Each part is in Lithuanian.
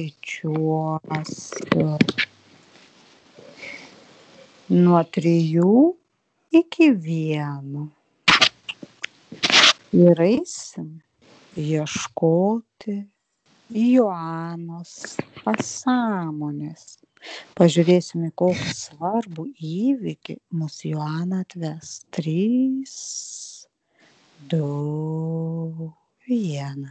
skaičiuosiu nuo 3 iki 1 ir eisim ieškoti Joanos pasąmonės. Pažiūrėsim, į kokį svarbų įvykį mus Joana atves. 3, 2, 1.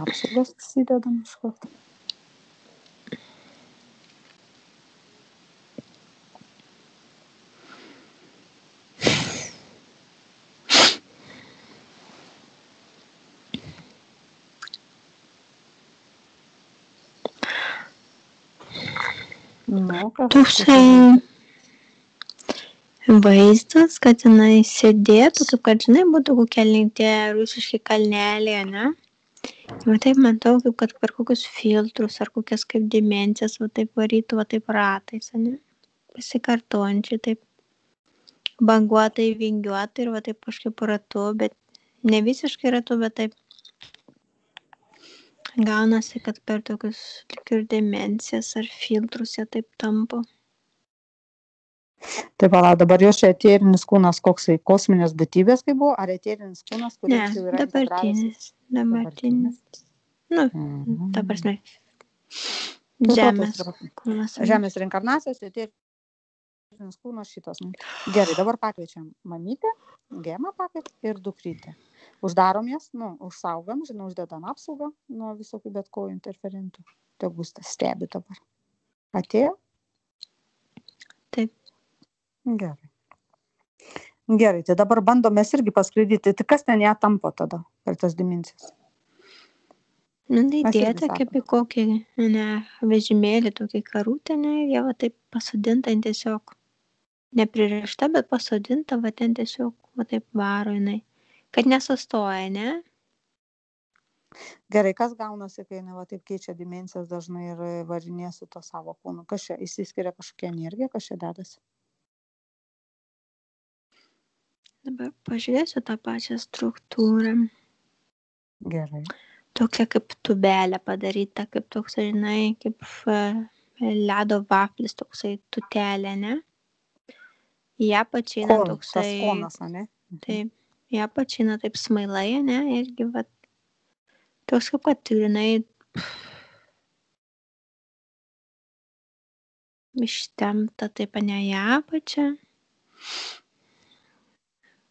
Apsaugos įsidedam iš karto. Toksai vaizdas, kad jinai sėdėtų, kaip kad žinai, būtų kokie tie rusiški kalneliai, ne? Va taip matau, kaip kad per kokius filtrus ar kokias kaip dimensijas, va taip varytų, va taip ratais, ne? Pasikartojančiai, taip banguotai, vingiuotai ir va taip kažkaip ratu, bet ne visiškai ratu, bet taip gaunasi, kad per tokius tik ir dimensijas ar filtrus jie taip tampo. Tai pala, dabar jos čia eterinis kūnas koksai kosminės būtybės kaip buvo, ar eterinis kūnas, kuris jau yra dabartinis. Nu, ta prasme, žemės kūnas. Žemės reinkarnacijos, eterinis kūnas šitas. Gerai, dabar pakviečiam mamytę, gemą pakviet ir dukrytę. Uždarom jas, užsaugam, žinau, uždedam apsaugą nuo visokių bet ko interferentų. Tegu stebi dabar. Atėjo? Taip. Gerai, tai dabar bandom mes irgi paskraidyti. Tai kas ten ją tampo tada per tas dimensijas? Nu, tai dėta kaip į kokį vežimėlį, tokį karutę, jie va taip pasodinta tiesiog. Nepririšta, bet pasodinta, va ten tiesiog va taip varo jinai. Kad nesustoja, ne? Gerai, kas gaunasi, kai jinai va taip keičia dimensijas dažnai ir varinė su to savo kūnu? Kas čia įsiskiria kažkokia energija, kas čia dedasi? Dabar pažiūrėsiu tą pačią struktūrą. Gerai. Tokia kaip tubelė padaryta, kaip toks, žinai, kaip ledo vaflis, toksai tutelė, ne? Ją pačina toksai... Tas konas, ne? Taip, ją pačina taip smailai, ne? Irgi, va, toks kaip kad turinai ištempta taip, ne ją pačią.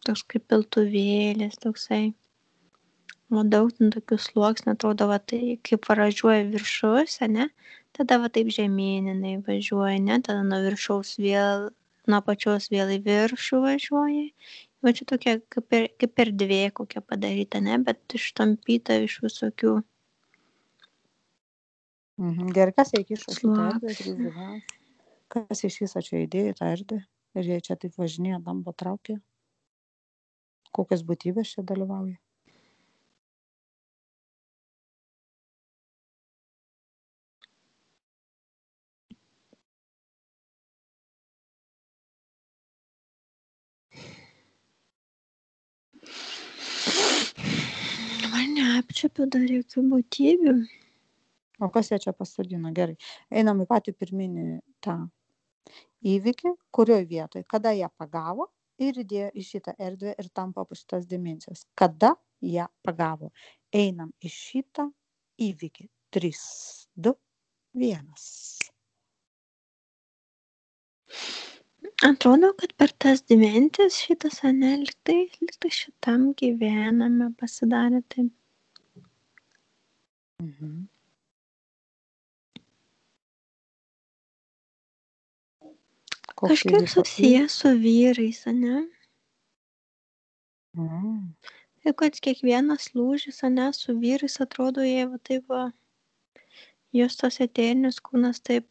Toks kaip piltuvėlis, toksai. O daug tokių sluoksnių, atrodo, va, tai kaip važiuoja viršus, ne? Tada va taip žemyninai važiuoja, ne? Tada nuo viršaus vėl, nuo pačios vėl į viršų važiuoja. Va čia tokia kaip erdvė kokia padaryta, ne? Bet ištampyta iš visokių. Gerai, kas įkišo šitą erdvę? Kas iš viso čia įdėjo tą erdvę? Ir jie čia taip važinėja, dambo traukia? Kokios būtybės čia dalyvauja? Man neapčiuopiu dar jokių būtybių. O kas jie čia pasodino? Gerai. Einam į patį pirminį tą įvykį, kurioje vietoje, kada ją pagavo ir įdėjo į šitą erdvę ir tampa po šitas dimensijas. Kada ją pagavo? Einam į šitą įvykį. 3, 2, 1. Atrodo, kad per tas dimensijas šitas liktai šitam gyvename pasidarė taip. Kažkiek susijęs su vyrais, ne? Ir kad kiekvienas lūžis, ne, su vyrais atrodo, jie va taip va, jos tas eterinis kūnas taip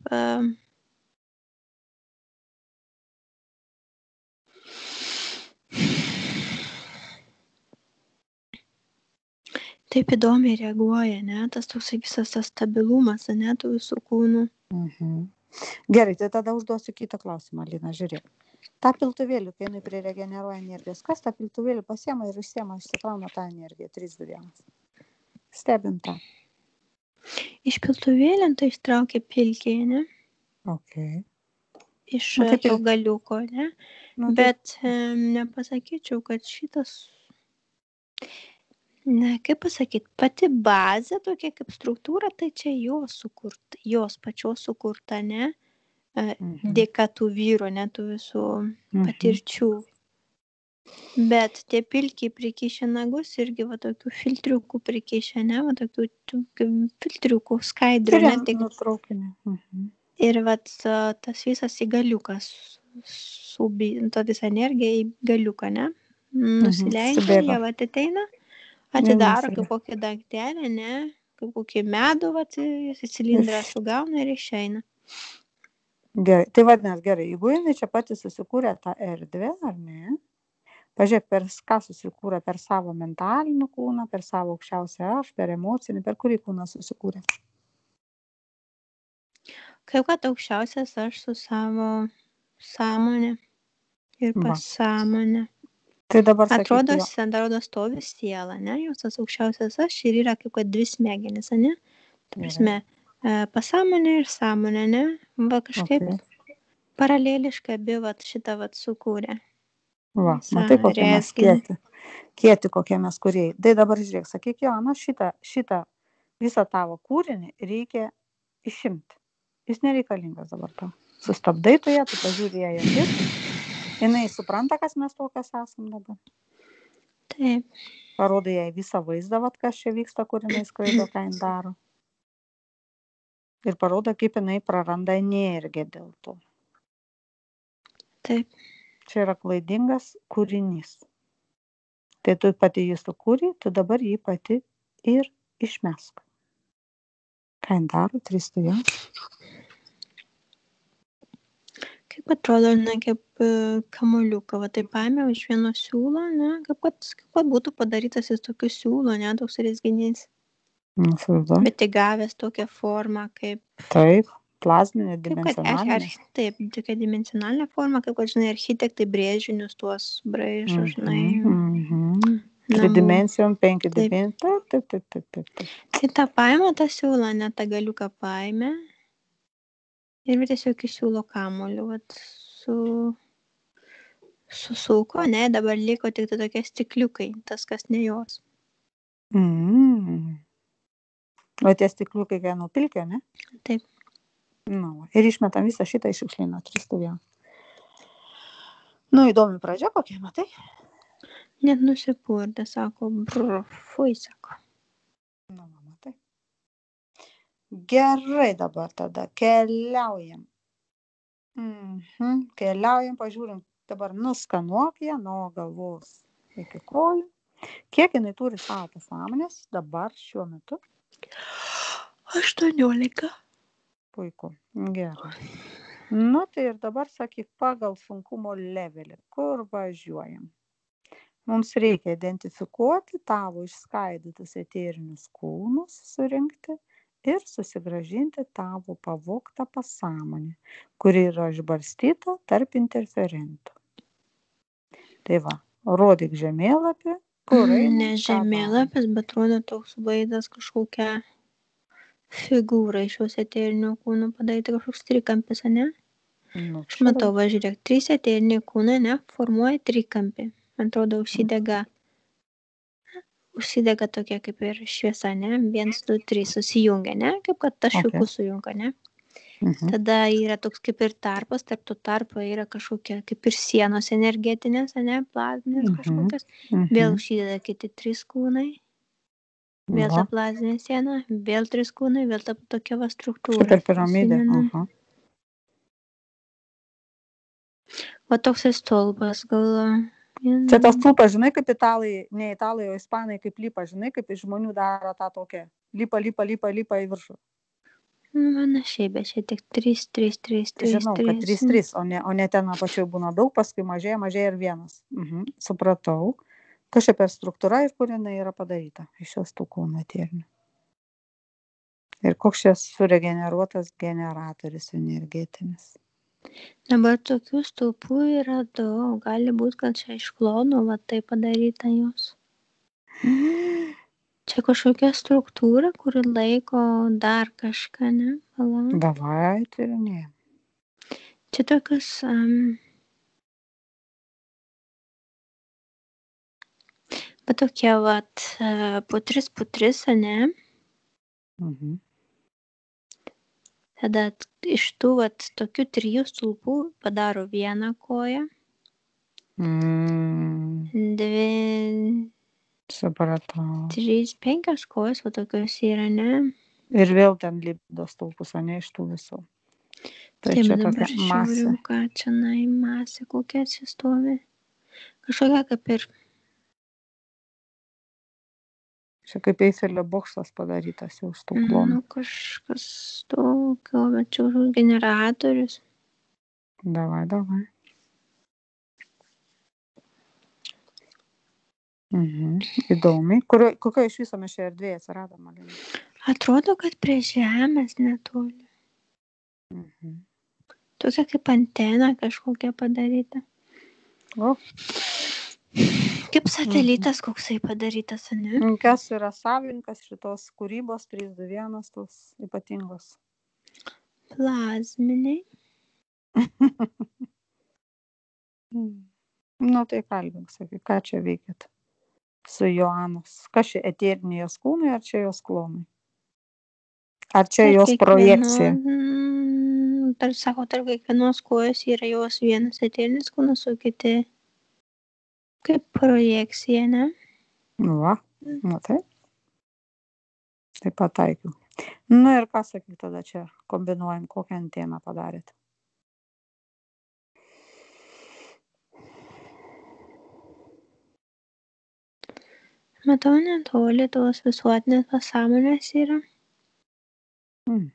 taip įdomiai reaguoja, ne, tas toksai visas tas stabilumas, ne, tų visų kūnų. Gerai, tai tada užduosiu kitą klausimą, Lina, žiūrėk. Ta piltuvėlį, kai jinai priregeneruoja energijos, kas tą piltuvėlį pasiema ir išsiema, išsikrauna tą energiją, 3, 2, 1. stebim tą? Iš piltuvėlio tai ištraukė pilkį, ne? Okay. Iš Nu, taip to ir- galiuko, ne? Nu, tai Bet nepasakyčiau, kad šitas, na, kaip pasakyt, pati bazė tokia kaip struktūra, tai čia jos pačios sukurta, ne? Dėka tų vyrų, ne, tų visų patirčių. Bet tie pilkiai prikišę nagus irgi va tokių filtriukų prikišę, ne, va tokių filtriukų skaidrių, ne, tik nutraukinį. ir vat tas visas į galiukas ta visa energija į galiuką, ne, nusileidžia, subėga. jie vat ateina, atidaro nusileidžia. kaip kokį daiktelį, ne, kaip kokį medų, vat į cilindrą sugauna ir išeina. Gerai, tai vadinasi gerai, jeigu jinai čia pati susikūrė tą erdvę, ar ne? Pažiūrėk, per ką susikūrė, per savo mentalinį kūną, per savo aukščiausią aš, per emocinį, per kurį kūną susikūrė. Kaip kad aukščiausias aš su savo sąmonė ir pasąmonė. Tai dabar atrodo stovi siela, ne, jos tas aukščiausias aš ir yra kaip kad dvi smegenys, ne? Ta prasme, pasąmonė ir sąmonė, ne? Va kažkaip paraleliškai abi vat šitą vat sukūrė. Va, matai, kokie mes kieti kokie mes kūrėjai. Tai dabar žiūrėk, sakyk, Joana, šitą visą tavo kūrinį reikia išimti. Jis nereikalingas dabar tau. Sustabdai tu ją, tu pažiūrė ją akis. Jinai supranta, kas mes tokios esam dabar. Taip. Parodai jai visą vaizdą, vat, kas čia vyksta, kur jinai skraido, ką jin daro. Ir parodo, kaip jinai praranda energiją dėl to. Taip. Čia yra klaidingas kūrinys. Tai tu pati jį sukūrei, tu dabar jį pati ir išmesk. Ką jin daro, tristu ją? Kaip atrodo, ne, kaip kamuoliuką, va taip paėmiau iš vieno siūlo, ne, kaip kad būtų padarytas jis tokiu siūlo, ne, toks rezginys. Bet įgavęs tokią formą kaip... Taip, plazminė, dimensionalinė. Taip, tokia dimensionalinė forma, kaip kad, žinai, architektai brėžinius tuos braižo, žinai. Tridimencijom, 5 dimensijom. Taip. Tai tą paėmė tą siūlą, ne tą galiuką paėmė. Ir tiesiog iš siūlo kamuoliu, vat, susuko, ne, dabar liko tik tai tokie stikliukai, tas kas ne jos. O tie stikliukai ką nupilkė, ne? Taip. Nu, ir išmetam visą šitą iš šiukšlyno, tristų vien. Nu, įdomi pradžia kokia, matai? Net nusipurdė, sako, fui, sako. Nu, matai. Gerai dabar tada, keliaujam. Keliaujam, pažiūrim, dabar nuskanuok ją nuo galvos iki kojų. Kiek jinai turi savo pasąmonės dabar šiuo metu? 18. Puiku, gerai. Nu, tai ir dabar sakyk pagal sunkumo levelį, kur važiuojam. Mums reikia identifikuoti tavo išskaidytus eterinius kūnus, surinkti ir susigrąžinti tavo pavogtą pasąmonę, kuri yra išbarstyta tarp interferentų. Tai va, rodyk žemėlapį, kur eina. Ne žemėlapis, bet rodo toks vaizdas kažkokia figūra iš šios eterinio kūno padaryti, kažkoks trikampis, ne? Aš matau, važiuok, 3 eteriniai kūnai, ne, formuoja trikampį. Man atrodo, užsidega tokia kaip ir šviesa, ne? 1, 2, 3 susijungia, ne? Kaip kad taškiukus sujunga, ne? Tada yra toks kaip ir tarpas, tarp to tarpo yra kažkokia kaip ir sienos energetinės, ne? Plazminės kažkokios. Vėl užsideda kiti 3 kūnai. Vėl ta plazinė siena, vėl 3 kūnai, vėl ta tokia va struktūra. Kaip ir piramidė. Va toks stulpas, gal... Čia tas stulpas, žinai, kaip italai, ne italai, o ispanai, kaip lipa, žinai, kaip iš žmonių daro tą tokią. Lipa į viršų. Panašiai, bet čia tik 3. Žinau, kad 3, o ne ten apačioje būna daug, paskui mažėja ir 1. Supratau. Kas čia per struktūra ir kur jinai yra padaryta iš šios tų kūnų eterinių. Ir koks čia suregeneruotas generatorius energetinis. Dabar tokių stulpų yra daug. Gali būti, kad čia iš klonų va tai padaryta jos. Čia kažkokia struktūra, kuri laiko dar kažką, ne? Pala. Davai tyrinėjam. Čia tokius... va tokie vat po 3, ne? Mhm. Tada iš tų vat tokių 3 stulpų padaro vieną koją. Mm, 2, supratau. 3, 5 kojos va tokios yra, ne? Ir vėl ten lipdo stulpus, o ne iš tų visų. Tai Taip, čia dabar tokia žiūrim, masė. ką čia masė, kokia čia stovi. Kažkokia kaip ir... Čia kaip Eifelio bokštas padarytas jau iš tų klonų. Nu, kažkas tokio, bet čia generatorius. Davai. Mhm. Įdomiai. Kokio iš viso mes čia erdvėje atsirado, Malina? Atrodo, kad prie žemės netoli. Mhm. Tokia kaip antena kažkokia padaryta. O, Kaip satelitas koksai padarytas, ne? kas yra savininkas šitos kūrybos 321 tos ypatingos? Plazminiai. Nu, tai kalbink, sakai, ką čia veikėt su Joanos? Kas čia eteriniai jos kūnai, ar čia jos klonai? Ar čia jos projekcija? Tarp kiekvienos kojos yra jos vienas eterinis kūnas, o kiti kaip projekcija, ne? Va, nu taip. Tai pataikiau. Nu ir ką sakyk tada čia kombinuojam, kokią anteną padarėt? Matau netoli tos visuotinės pasąmonės yra. Mhm.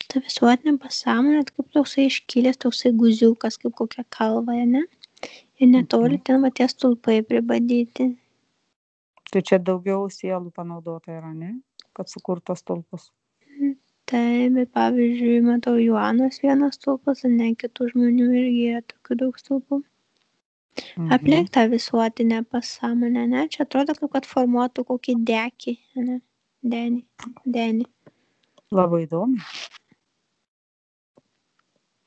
Ta visuotinė pasąmonė kaip toksai iškilęs, toksai guziukas, kaip kokia kalva, ne? Ir netoli ten va tie stulpai pribadyti. Tai čia daugiau sielų panaudota yra, ne? Kad sukurtos stulpus. Taip, bet pavyzdžiui, matau Joanos vienas stulpas, o ne kitų žmonių irgi yra tokių daug stulpų. Aplink tą visuotinę pasąmonę, ne? Čia atrodo, kaip kad formuotų kokį dekį, ne? Denį. Labai įdomi.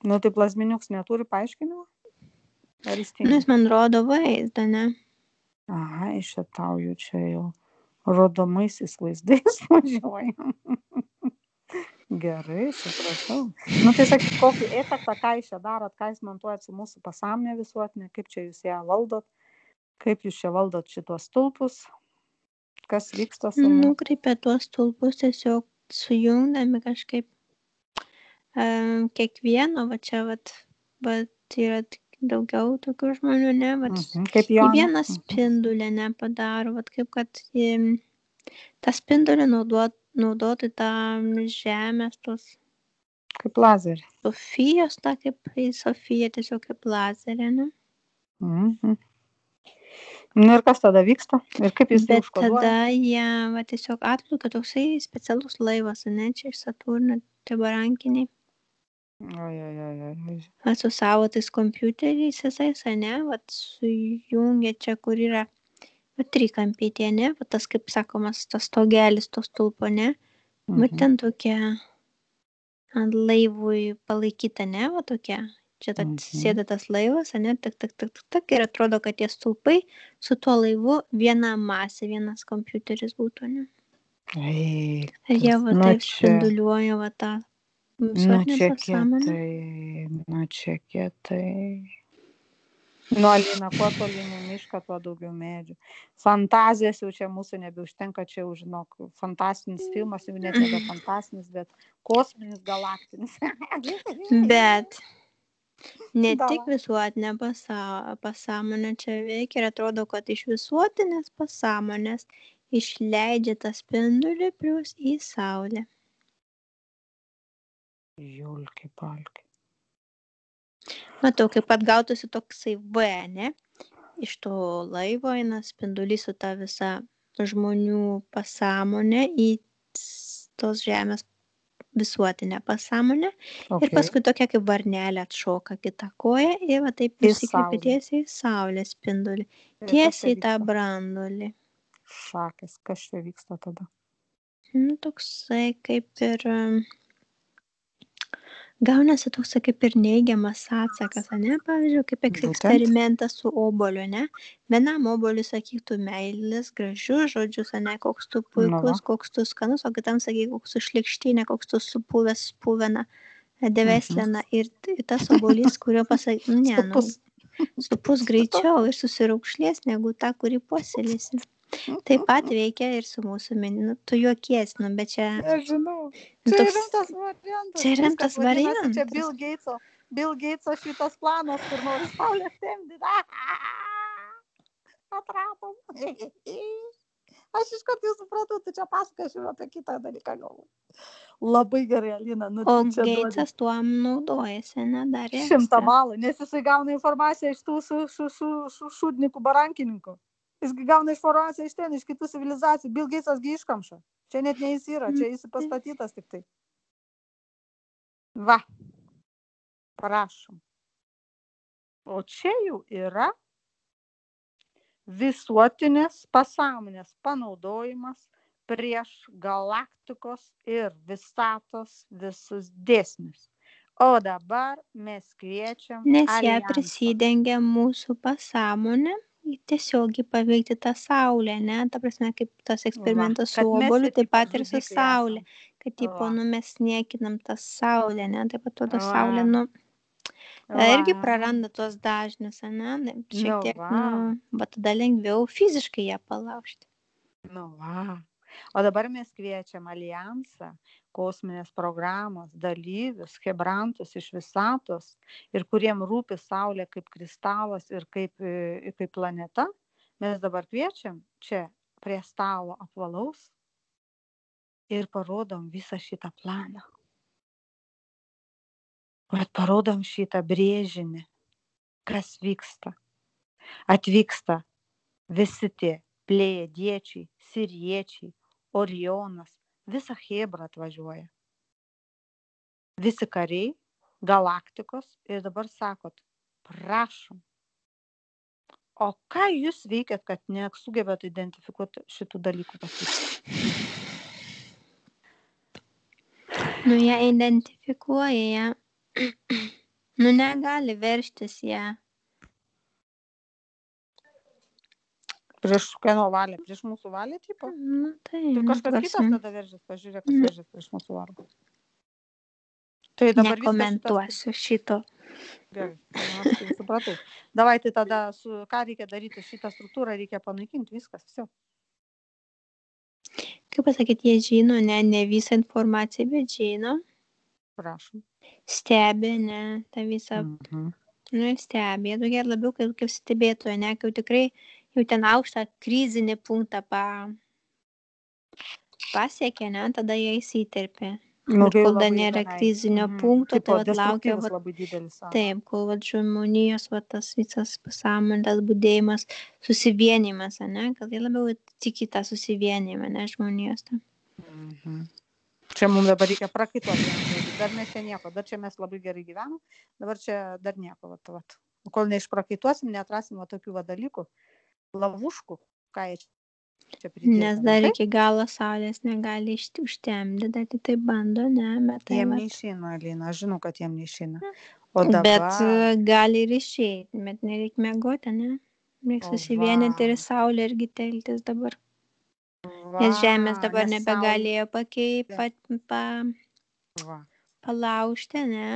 Nu, tai plazminiuks neturi paaiškinimo? Ar jis tinka? Nu, jis man rodo vaizdą, ne? Aha, išėtauju čia jau rodomaisiais vaizdais važiuojam. Gerai, supratau. Nu, tai sakyk, kokį efektą, ką jūs čia darot, ką jūs montuojat su mūsų pasąmonė visuotinė, kaip čia jūs ją valdot, kaip jūs čia valdot šitos stulpus, kas vyksta su mūsų. Nukreipia tuos stulpus tiesiog sujungdami kažkaip kiekvieno, va čia vat yra daugiau tokių žmonių, ne, vat Kaip į Joana. vieną spindulę nepadaro, vat kaip kad tą spindulį naudoti tam žemės tos Kaip lazerį. Sofijos, ta kaip į Sofiją tiesiog kaip lazerį, ne? Nu ir kas tada vyksta? Ir kaip jūs tai Bet užkoduojat? tada jie va tiesiog atplaukia toksai specialus laivas, ne, čia iš Saturno, tie barankiniai. Oi. Va su savo tais kompiuteriais visais, ne, va sujungia čia, kur yra va trikampiai, ne, va tas, kaip sakomas, tas stogelis, to stulpo, ne, va ten tokia ant laivui palaikyta, ne, va tokia. Čia sėda tas laivas, ne, tak, ir atrodo, kad tie stulpai su tuo laivu viena masė, vienas kompiuteris būtų, ne. Ir jie va taip spinduliuoja va tą visuotinę pasąmonę. Nu čia kietai. Nu, Alina, kuo tolyn į mišką, tuo daugiau medžių. Fantazijos jau čia mūsų nebeužtenka, čia jau, žinok, fantastinis filmas, jau net nebe fantastinis, bet kosminis, galaktinis. Bet ne tik visuotinė pasąmonė čia veikia ir atrodo, kad iš visuotinės pasąmonės išleidžia tą spindulį plius į saulę. Julki palki. Matau, kaip pat gautųsi toksai V, ne? Iš to laivo eina spindulys su ta visa žmonių pasąmonė į tos žemės visuotinę pasąmonę ir Okay. paskui tokia kaip varnelė atšoka kita koja ir va taip Į nusikreipia saulę. tiesiai į saulės spindulį, Ir kas čia tiesiai į tą vyksta? branduolį. Šakės, kas čia vyksta tada? Nu, toksai kaip ir gaunasi toksai kaip ir neigiamas atsakas, ane? Pavyzdžiui, kaip Būtent. eksperimentas su obuoliu, ne? Vienam obuoliui sakytų meilės, gražius žodžius, ane, koks tu puikus, koks tu skanus, o kitam sakytų, koks tu šlikštinė, koks tu supuvęs, spuvena, deveslena. Ir tas obuolys, kurio pasakė, ne, nu, supus greičiau ir susiraukšlės negu tą, kurį puoselėsi. Taip pat veikia ir su mūsų nu, tu juokies, nu, bet čia... Nežinau. Nu, Čia toks- rimtas variantas. Čia rimtas Viskas vadinasi, čia variantas. Bill Gateso šitas planas, kur nori saulės temdyti. Atratom. Aš iš karto jau supratau, tu čia pasakosi apie kitą dalyką galvoju. Labai gerai, Alina. Nu, O tu čia duodi Geitsas tuom naudojasi, nedarė 100 balų, nes jisai gauna informaciją iš tų su šudnikų barankininkų. Jisgi gauna informaciją iš ten, iš kitų civilizacijų. Bill Gatesas gi iškamša. Čia net ne jis yra, čia jis pastatytas tik tai. Va. Prašom. O čia jau yra visuotinės pasąmonės panaudojimas prieš galaktikos ir visatos visus dėsnius. O dabar mes kviečiam Nes ją alijansą. prisidengia mūsų pasąmonė tiesiogiai paveikti tą saulę, ne? Ta prasme, kaip tas eksperimentas Va, su kad mes obuoliu, čia taip tipo pat ir su žudikai saulė. Kad tipo, Va. nu, mes niekinam tą saulę, ne? Taip pat tada Va. saulė, nu, Va. irgi praranda tuos dažnius, ne? Šiek tiek, va. nu, bet tada lengviau fiziškai ją palaužti. Nu va. O dabar mes kviečiam alijansą, kosminės programos dalyvius, hebrantus iš visatos ir kuriem rūpi saulė kaip kristalas ir kaip planeta. Mes dabar kviečiam čia prie stalo apvalaus ir parodom visą šitą planą. Bet parodom šitą brėžinį, kas vyksta. Atvyksta visi tie plėjadiečiai, siriečiai, Orionas, visa Hebra atvažiuoja. Visi kariai, galaktikos ir dabar sakot, prašom. O ką jūs veikiat, kad nesugebėt identifikuoti šitų dalykų pasakyti? Nu, ją identifikuoja, ją. Nu, negali verštis ją. Prieš kieno valią? Prieš mūsų valią, tipo? Nu, tai, Tai kažkas kitas tada veržės, pažiūrėk, kas veržės prieš mūsų valią. Tai dabar nekomentuosiu šito. Gerai, aš tai supratau. Davai, tai tada ką reikia daryti, šitą struktūrą reikia panaikinti, viskas, viso. Kaip pasakyti, jie žino, ne visą informaciją, bet žino. Prašom. Stebi, ne, tą visą. Nu, stebi, jie tokie labiau kaip stebėtoja, ne, kai tikrai jau ten aukštą krizinį punktą pasiekė, ne, tada jie įsiterpė. Ir kol dar nėra krizinio punkto, tai vat laukia, taip, kol vat žmonijos, vat tas visas pasąmonės budėjimas, susivienimas, ne, kad jie labiau tiki tą susivienimą, ne, žmonijos. Čia mums dabar reikia prakaituoti, dar mes čia nieko, dar čia mes labai gerai gyvenam, dabar čia dar nieko, vat. Kol neišprakaituosim, neatrasim tokių dalykų, lavuškų, ką jie čia pridėti. Nes dar iki galo saulės negali užtemdyti, dar tai bando, ne, bet tai jiem neišeina, Alina, aš žinau, kad jiem neišeina. O dabar... Bet gali ir išeiti, bet nereikia mėgoti, ne? Reikia susivienyti ir saulė irgi teltis dabar. Nes žemės dabar nebegalėjo palaužti, ne?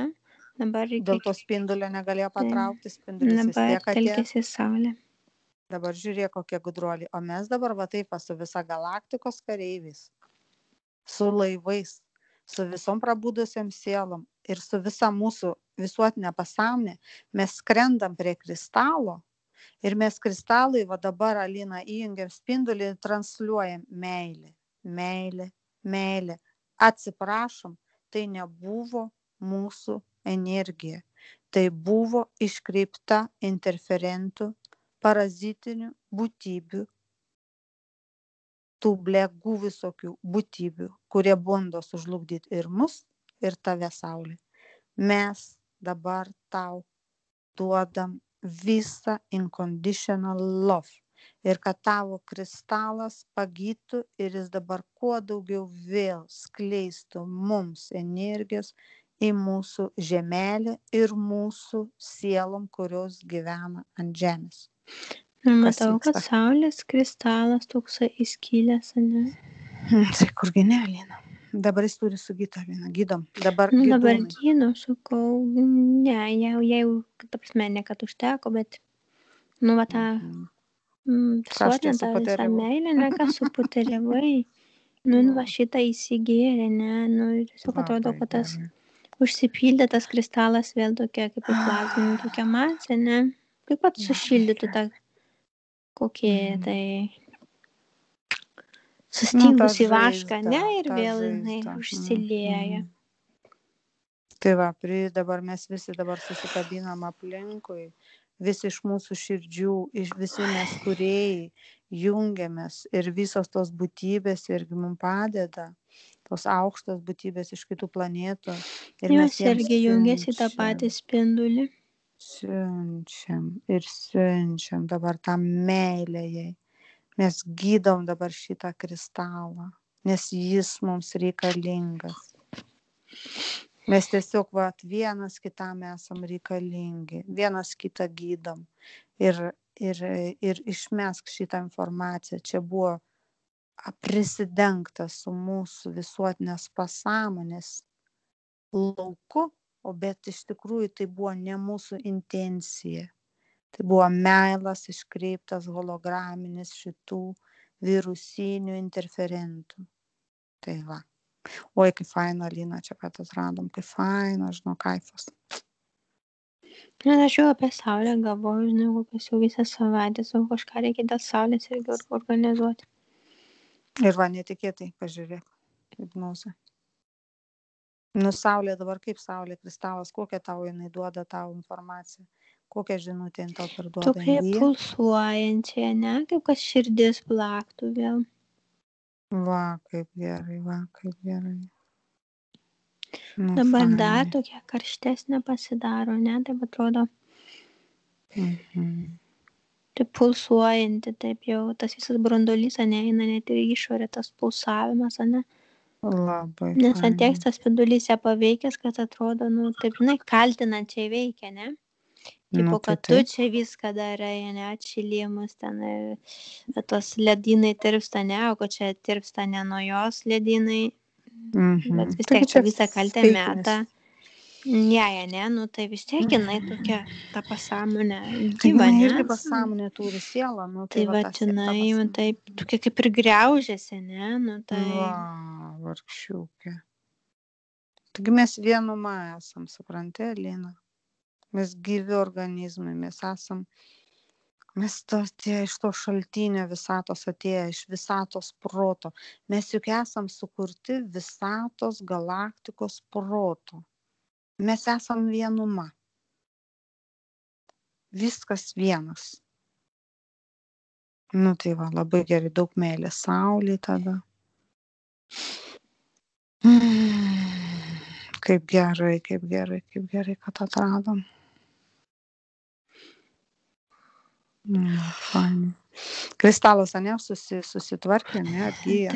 Dabar reikia... Dėl to spindulio negalėjo patraukti, spindulis vis tiek atėjo. Dabar telkėsi saulė. Dabar žiūrėk, kokie gudruoliai. O mes dabar va taip su visa galaktikos kareiviais, su laivais, su visom prabudusiam sielom ir su visa mūsų visuotinė pasąmonė, mes skrendam prie kristalo ir mes kristalai va dabar, Alina, įjungiam spindulį ir transliuojam meilę, meilę, meilę. Atsiprašom, tai nebuvo mūsų energija. Tai buvo iškreipta interferentų, parazitinių būtybių, tų blegų visokių būtybių, kurie bando sužlugdyti ir mus, ir tave, Saulė. Mes dabar tau duodam visą unconditional love. Ir kad tavo kristalas pagytų ir jis dabar kuo daugiau vėl skleistų mums energijos į mūsų žemelę ir mūsų sielom, kurios gyvena ant žemės. Matau, kad saulės kristalas toksai įskilęs, ne? Tai kurgi ne, Lina. Dabar jis turi sugyti, Lina. Gydom. Dabar Dabar gydūnai. gydau, sakau, ne, jau, ta prasme, ne kad užteko, bet, nu, va tą visuotinę tą visą meilę, ne, ką suputeriavai. Nu, va šitą įsigėrė, ne, nu, tiesiog atrodo, kad tas užsipildė tas kristalas vėl tokia, kaip ir plazminė tokia masė, ne, kaip pat sušildytų tą kokie tai sustingus į vašką, ne, ir vėl jinai užsilieja. Tai va, dabar mes visi dabar susikabinam aplinkui, visi iš mūsų širdžių, visi mes kūrėjai, jungiamės ir visos tos būtybės irgi mums padeda, tos aukštos būtybės iš kitų planetų. Ir jos irgi jungiasi tą patį spindulį. Siunčiam dabar tą meilę jai. Mes gydom dabar šitą kristalą, nes jis mums reikalingas. Mes tiesiog vienas kitam esam reikalingi, vienas kitą gydom ir išmesk šitą informaciją. Čia buvo prisidengta su mūsų visuotinės pasąmonės lauku, bet iš tikrųjų tai buvo ne mūsų intencija. Tai buvo meilas iškreiptas holograminis šitų virusinių interferentų. Tai va. Oi, kaip faina, Lina, čia pat atradom, kaip faina, žinau, kaifas. Aš jau apie Saulę galvoju, žinau, kokias jau visą savaitę, savo kažką reikia dėl Saulės irgi organizuoti. Ir va, netikėtai, pažiūrėk, hipnozė. Nu, Saulė dabar kaip Saulė, kristalas, kokią tau jinai duoda tau informaciją, kokią žinutę jin tau perduoda. Tokia pulsuojančia, ne, kaip kad širdis plaktų vėl. Va, kaip gerai, Nu, dabar fainai. dar tokia karštesnė pasidaro, ne, taip atrodo. Taip pulsuojanti, taip jau tas visas branduolys, ne, eina net ir išorė tas pulsavimas, ne. Labai. Nes ant tiek tas spindulys ją paveikęs, kad atrodo, nu, taip, žinai, kaltinančiai veikia, ne. Tipo, kad tu čia viską darai, ne, atšilimus ten, tos ledynai tirpsta, ne, o kad čia tirpsta ne nuo jos ledynai, bet vis tiek tą visą kaltę meta. Ne, nu tai vis tiek jinai tokia, ta pasąmonė gyva, ne? Tai irgi pasąmonė turi sielą, nu tai va, jinai, taip, tokia kaip ir griaužiasi, ne, nu tai. Va, vargšiukė. Taigi mes vienuma esam, supranti, Lina? Mes gyvi organizmai, mes esam, mes iš to šaltinio visatos atėję, iš visatos proto. Mes juk esam sukurti visatos galaktikos proto. Mes esam vienuma. Viskas vienas. Nu tai va, labai gerai, daug meilės Saulei tada. Kaip gerai, kad atradom. Fainai. Kristalas, ne, susitvarkė, ne, atgyja.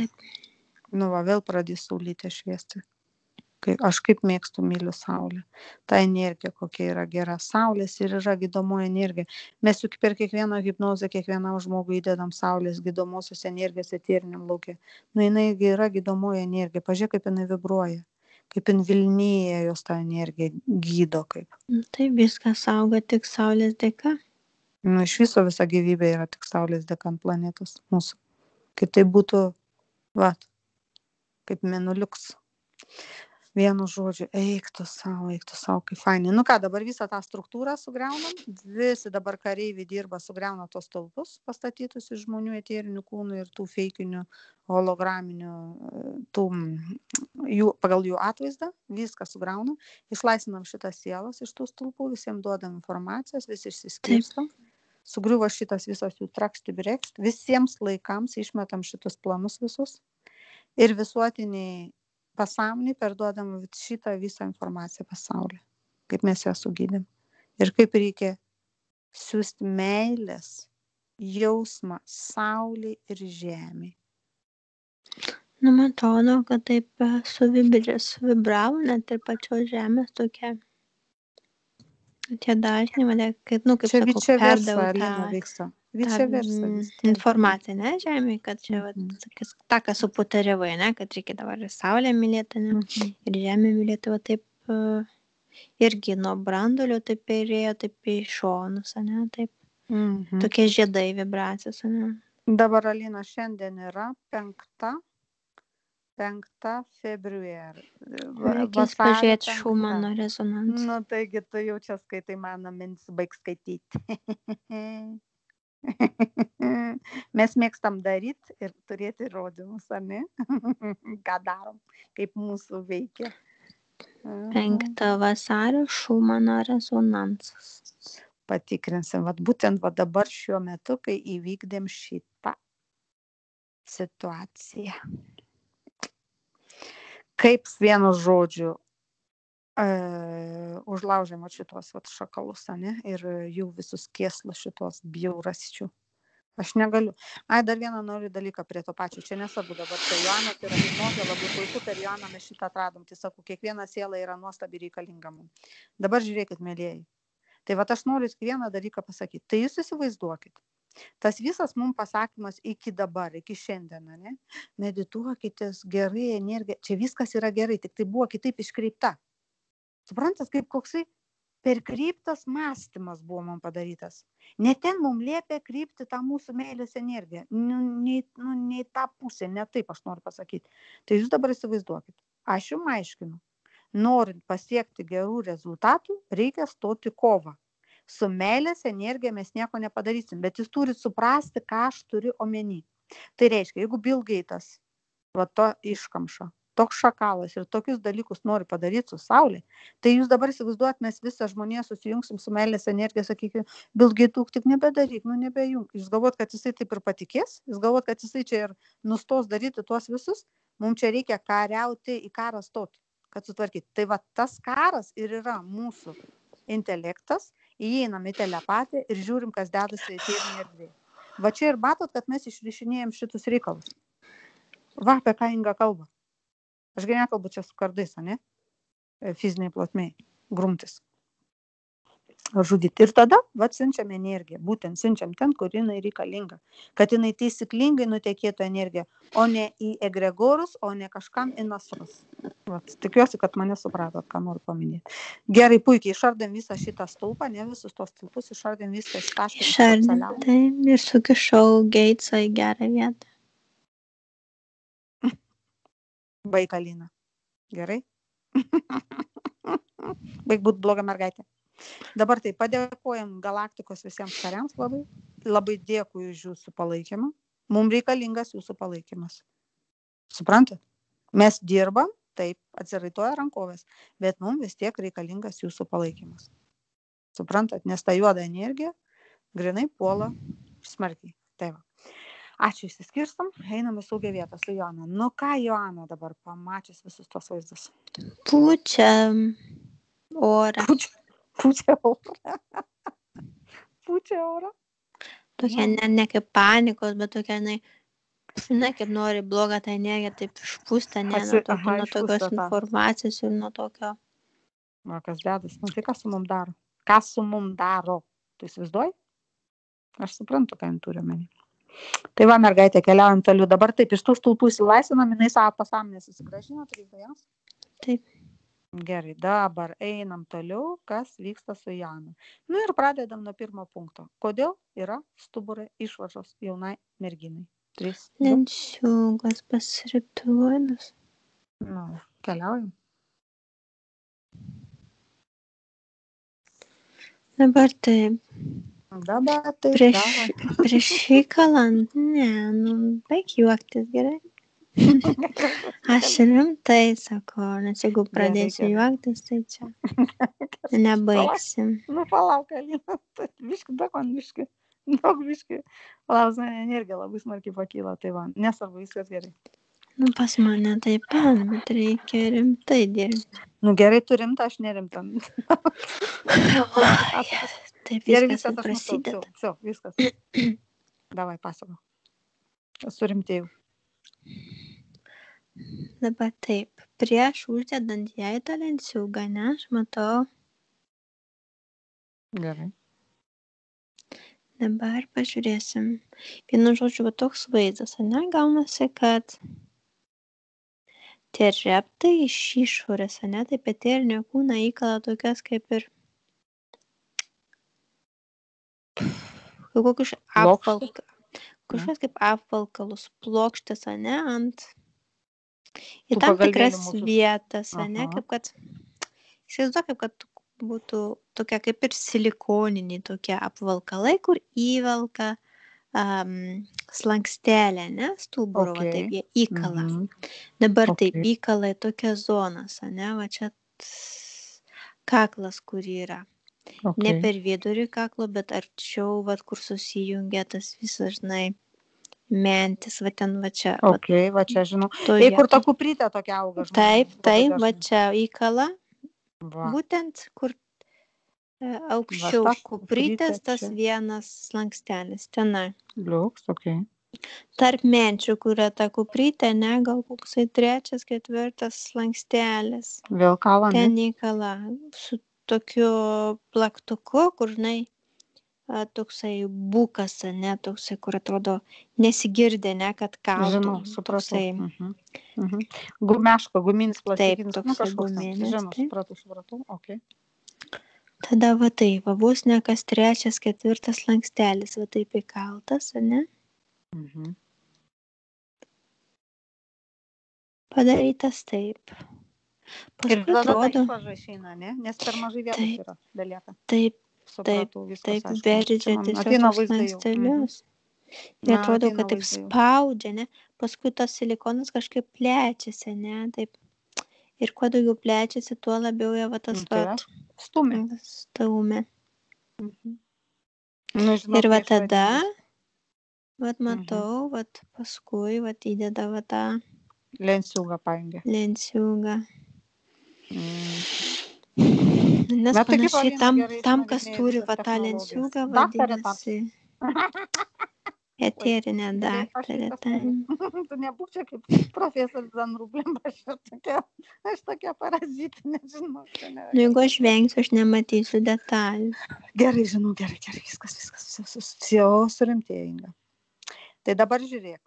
Nu va, vėl pradės saulytė šviesti. Aš kaip mėgstu, myliu Saulę. Ta energija, kokia yra gera. Saulės ir yra gydomoji energija. Mes juk per kiekvieną hipnozę, kiekvienam žmogui įdedam Saulės gydomosios energijos eteriniam lauke. Nu, jinai yra gydomoji energija. Pažiūrėk, kaip jinai vibruoja. Kaip jin Vilnyje jos tą energiją gydo kaip. Tai viskas auga tik Saulės dėka. Nu, iš viso visa gyvybė yra tik Saulės dėka ant planetos mūsų. Kaip tai būtų, va, kaip mėnuliuks. Vienu žodžiu, eik tu savo, kaip fainai. Nu ką, dabar visą tą struktūrą sugriaunam, visi dabar kareiviai dirba, sugriauna tos stulpus pastatytus iš žmonių eterinių kūnų ir tų feikinių holograminių, pagal jų atvaizdą, viską sugriaunam, išlaisvinam šitas sielas iš tų stulpų, visiems duodam informacijos, visi išsiskirstam. Sugriuvo šitas visas jų trakšti brekšt, visiems laikams išmetam šitus planus visus ir visuotiniai pasąmoniai perduodam šitą visą informaciją pasauliui, kaip mes ją sugydėm ir kaip reikia siųsti meilės jausmą saulei ir žemei. Nu, man atrodo, kad taip suvibravo net ir pačios žemės tokia. Tie dažniai mane, kaip Čia sakau, vice versa, perdavau Alina, tą vyksta. Vice versa vis tiek. informaciją, ne, žemėje, kad čia, tą, ką suputariavai, ne, kad reikia dabar ir saulę mylėti, ne, ir žemę mylėti, va taip, irgi nuo brandulio taip ėjo, taip į šonus, ne, taip, tokie žiedai vibracijos, ne. Dabar, Alina, šiandien yra 5 februarį. Reikės pažiūrėti Šumano rezonansą. Nu, taigi tu jau čia skaitai, mano mintis, baig skaityti. Mes mėgstam daryti ir turėti įrodymus, ne? Ką darom, kaip mūsų veikia. 5 vasario Šumano rezonansas. Patikrinsim, būtent dabar šiuo metu, kai įvykdėm šitą situaciją. Kaip vienu žodžiu užlaužėm šitos šakalus, ne? Ir jų visus kėslus šitos bjaurasčių. Aš negaliu. Dar vieną noriu dalyką prie to pačio. Čia nesvarbu dabar. Tai Joanas yra hipnozė, labai puiku, per Joaną mes šitą atradom. Tai sakau, kiekviena siela yra nuostabi reikalinga mums. Dabar žiūrėkit, mėlieji. Tai aš noriu vieną dalyką pasakyti. Tai jūs įsivaizduokit. Tas visas mums pasakymas iki dabar, iki šiandien, ne? Medituokitės, gerai energija. Čia viskas yra gerai, tik tai buvo kitaip iškreipta. Suprantat, kaip koksai perkreiptas mąstymas buvo mums padarytas. Ne ten mums liepia krypti tą mūsų meilės energiją. Nei tą pusę, ne taip aš noriu pasakyti. Tai jūs dabar įsivaizduokit. Aš jums aiškinu. Norint pasiekti gerų rezultatų, reikia stoti kovą. Su meilės energija mes nieko nepadarysim, bet jūs turit suprasti, ką aš turiu omeny. Tai reiškia, jeigu Bill Gates, to iškamša, toks šakalas ir tokius dalykus nori padaryti su Saulė, tai jūs dabar įsivaizduojat, mes visą žmoniją susijungsim su meilės energija, sakykime, Bill Gates, tik nebedaryk, nebejunk. Jūs galvot, kad jisai taip ir patikės? Jūs galvot, kad jisai čia ir nustos daryti tuos visus? Mums čia reikia kariauti, į karą stoti, kad sutvarkyti. Tai tas karas ir yra mūsų intelektas, įeinam į telepatiją ir žiūrim, kas dedasi eterinėje erdvėje. Čia ir matot, kad mes išrišinėjom šitus reikalus. Apie ką Inga kalba. Aš nekalbu čia su kardais, ne? Fiziniai plotmei, grumtis. Žudyti. Ir tada, siunčiam energiją. Būtent siunčiam ten, kur jinai reikalinga. Kad jinai taisyklingai nutekėtų energiją, o ne į egregorus, o ne kažkam į nasrus. Tikiuosi, kad mane supratot, ką noriu paminėti. Gerai, puikiai, išardėm visą šitą stulpą, ne visus tos stulpus, išardėm viską iš taškų. Išardėm ir sukišau Gatesą į gerą vietą. Baik, Alina. Gerai? Baik būt bloga mergaitė. Dabar tai padėkojam galaktikos visiems kariams labai. Labai dėkui už jūsų palaikymą. Mums reikalingas jūsų palaikymas. Suprantat? Mes dirbam, taip, atsiraitoja rankovės, bet mums vis tiek reikalingas jūsų palaikymas. Suprantat? Nes ta juoda energija grinai puola smarkiai. Tai va. Ačiū, išsiskirstam, einam į saugią vietą su Joana. Nu ką Joana dabar pamačius visus tos vaizdus? Pučia orą. Pučia orą. Pučia orą. Tokia ne kaip panikos, bet tokia, kaip nori blogą tą energiją, taip išpūsta, nuo tokios informacijos ir nuo tokio. Kas dedas, tai kas su mum daro? Kas su mum daro? Tu įsivaizduoji? Aš suprantu, ką jin turi omeny. Tai va, mergaitė, keliaujam toliau. Dabar taip, iš tų stulpų įsilaisvinam, jinai savo pasąmonę susigrąžino, trys. Taip. Gerai, dabar einam toliau, kas vyksta su Jana. Ir pradedam nuo pirmo punkto. Kodėl yra stuburo išvaržos jaunai merginai? 3. Lenciūgas pasiriptuodas. Keliaujam. Dabar taip. Prieš įkalant, baig juoktis, gerai. Aš rimtai sakau, nes jeigu pradėsiu juoktis, tai čia nebaigsim. Palauk, Alina, viški, Daug biškai. Lausna energija labai smarkiai pakyla, tai va, nesvarbu, viskas gerai. Nu, pas mane taip, bet reikia rimtai dirbti. Nu gerai, tu rimta, aš nerimta. Taip Gerai, viskas viskas, aš prasideda. matau. Все, viskas. Davai, pasako. Surimtėjau. Dabar taip, prieš uždedant jai tą lenciūgą, ne, aš matau. Gerai. Dabar pažiūrėsim. Vienu žodžiu, va toks vaizdas, ne, gaunasi, kad tie reptai iš išorės, ne, taip eterinio kūną įkala tokias kaip ir kažkokias kaip apvalkalus, plokštės, ne, ant į tam tikras vietas, ne, kaip kad, įsivaizduok, kaip kad būtų tokia kaip ir silikoniniai tokie apvalkalai, kur įvelka slankstelę, ne, stuburo, va taip jie įkala. Dabar taip įkala į tokias zonas, ne, va čia kaklas, kur yra. Ne per vidurį kaklo, bet arčiau, va kur susijungia tas visas, žinai, mentis, va ten, va čia. Va čia, žinau. Ei, kur ta kuprytė tokia auga. Taip, va čia įkala. Būtent, kur aukščiau kuprytės tas vienas slankstelis, tenai. Liuks, Tarp menčių, kur yra ta kuprytė, ne, gal koksai 3, 4 slankstelis. Vėl kala, ne? Ten įkala su tokiu plaktuku, kur, žinai, toksai bukas, ne, toksai, kur atrodo nesigirdė, ne, kad kaltų. Žinau, supratau. Gumeško, guminis plastikinis. Taip, toksai guminis. Žinau, supratau, Tada va taip, va bus ne kas 3, 4 slankstelis, va taip įkaltas, ne? Padarytas taip. Ir tada ta išvaža išeina, ne? Nes per mažai vietos yra, belieka. Taip, supratau, viskas aišku. veržia tiesiog tos slankstelius. Ir atrodo, kad taip spaudžia, ne? Paskui tas silikonas kažkaip plečiasi, ne? Taip. Ir kuo daugiau plečiasi, tuo labiau jie va tas stumia. Ir va tada, va matau, va paskui va įdeda va tą lenciūgą paėmė. Lenciūgą. Nes panašiai tam, kas turi va tą lenciūgą, vadinasi eterinė daktarė. Tu nebūk čia kaip profesorius Zanrublėm, aš tokia parazitų, nežinau. Jeigu aš vengsiu, aš nematysiu detalių. Gerai, žinau, gerai, viskas, jau surimtėjo, Inga. Tai dabar žiūrėk.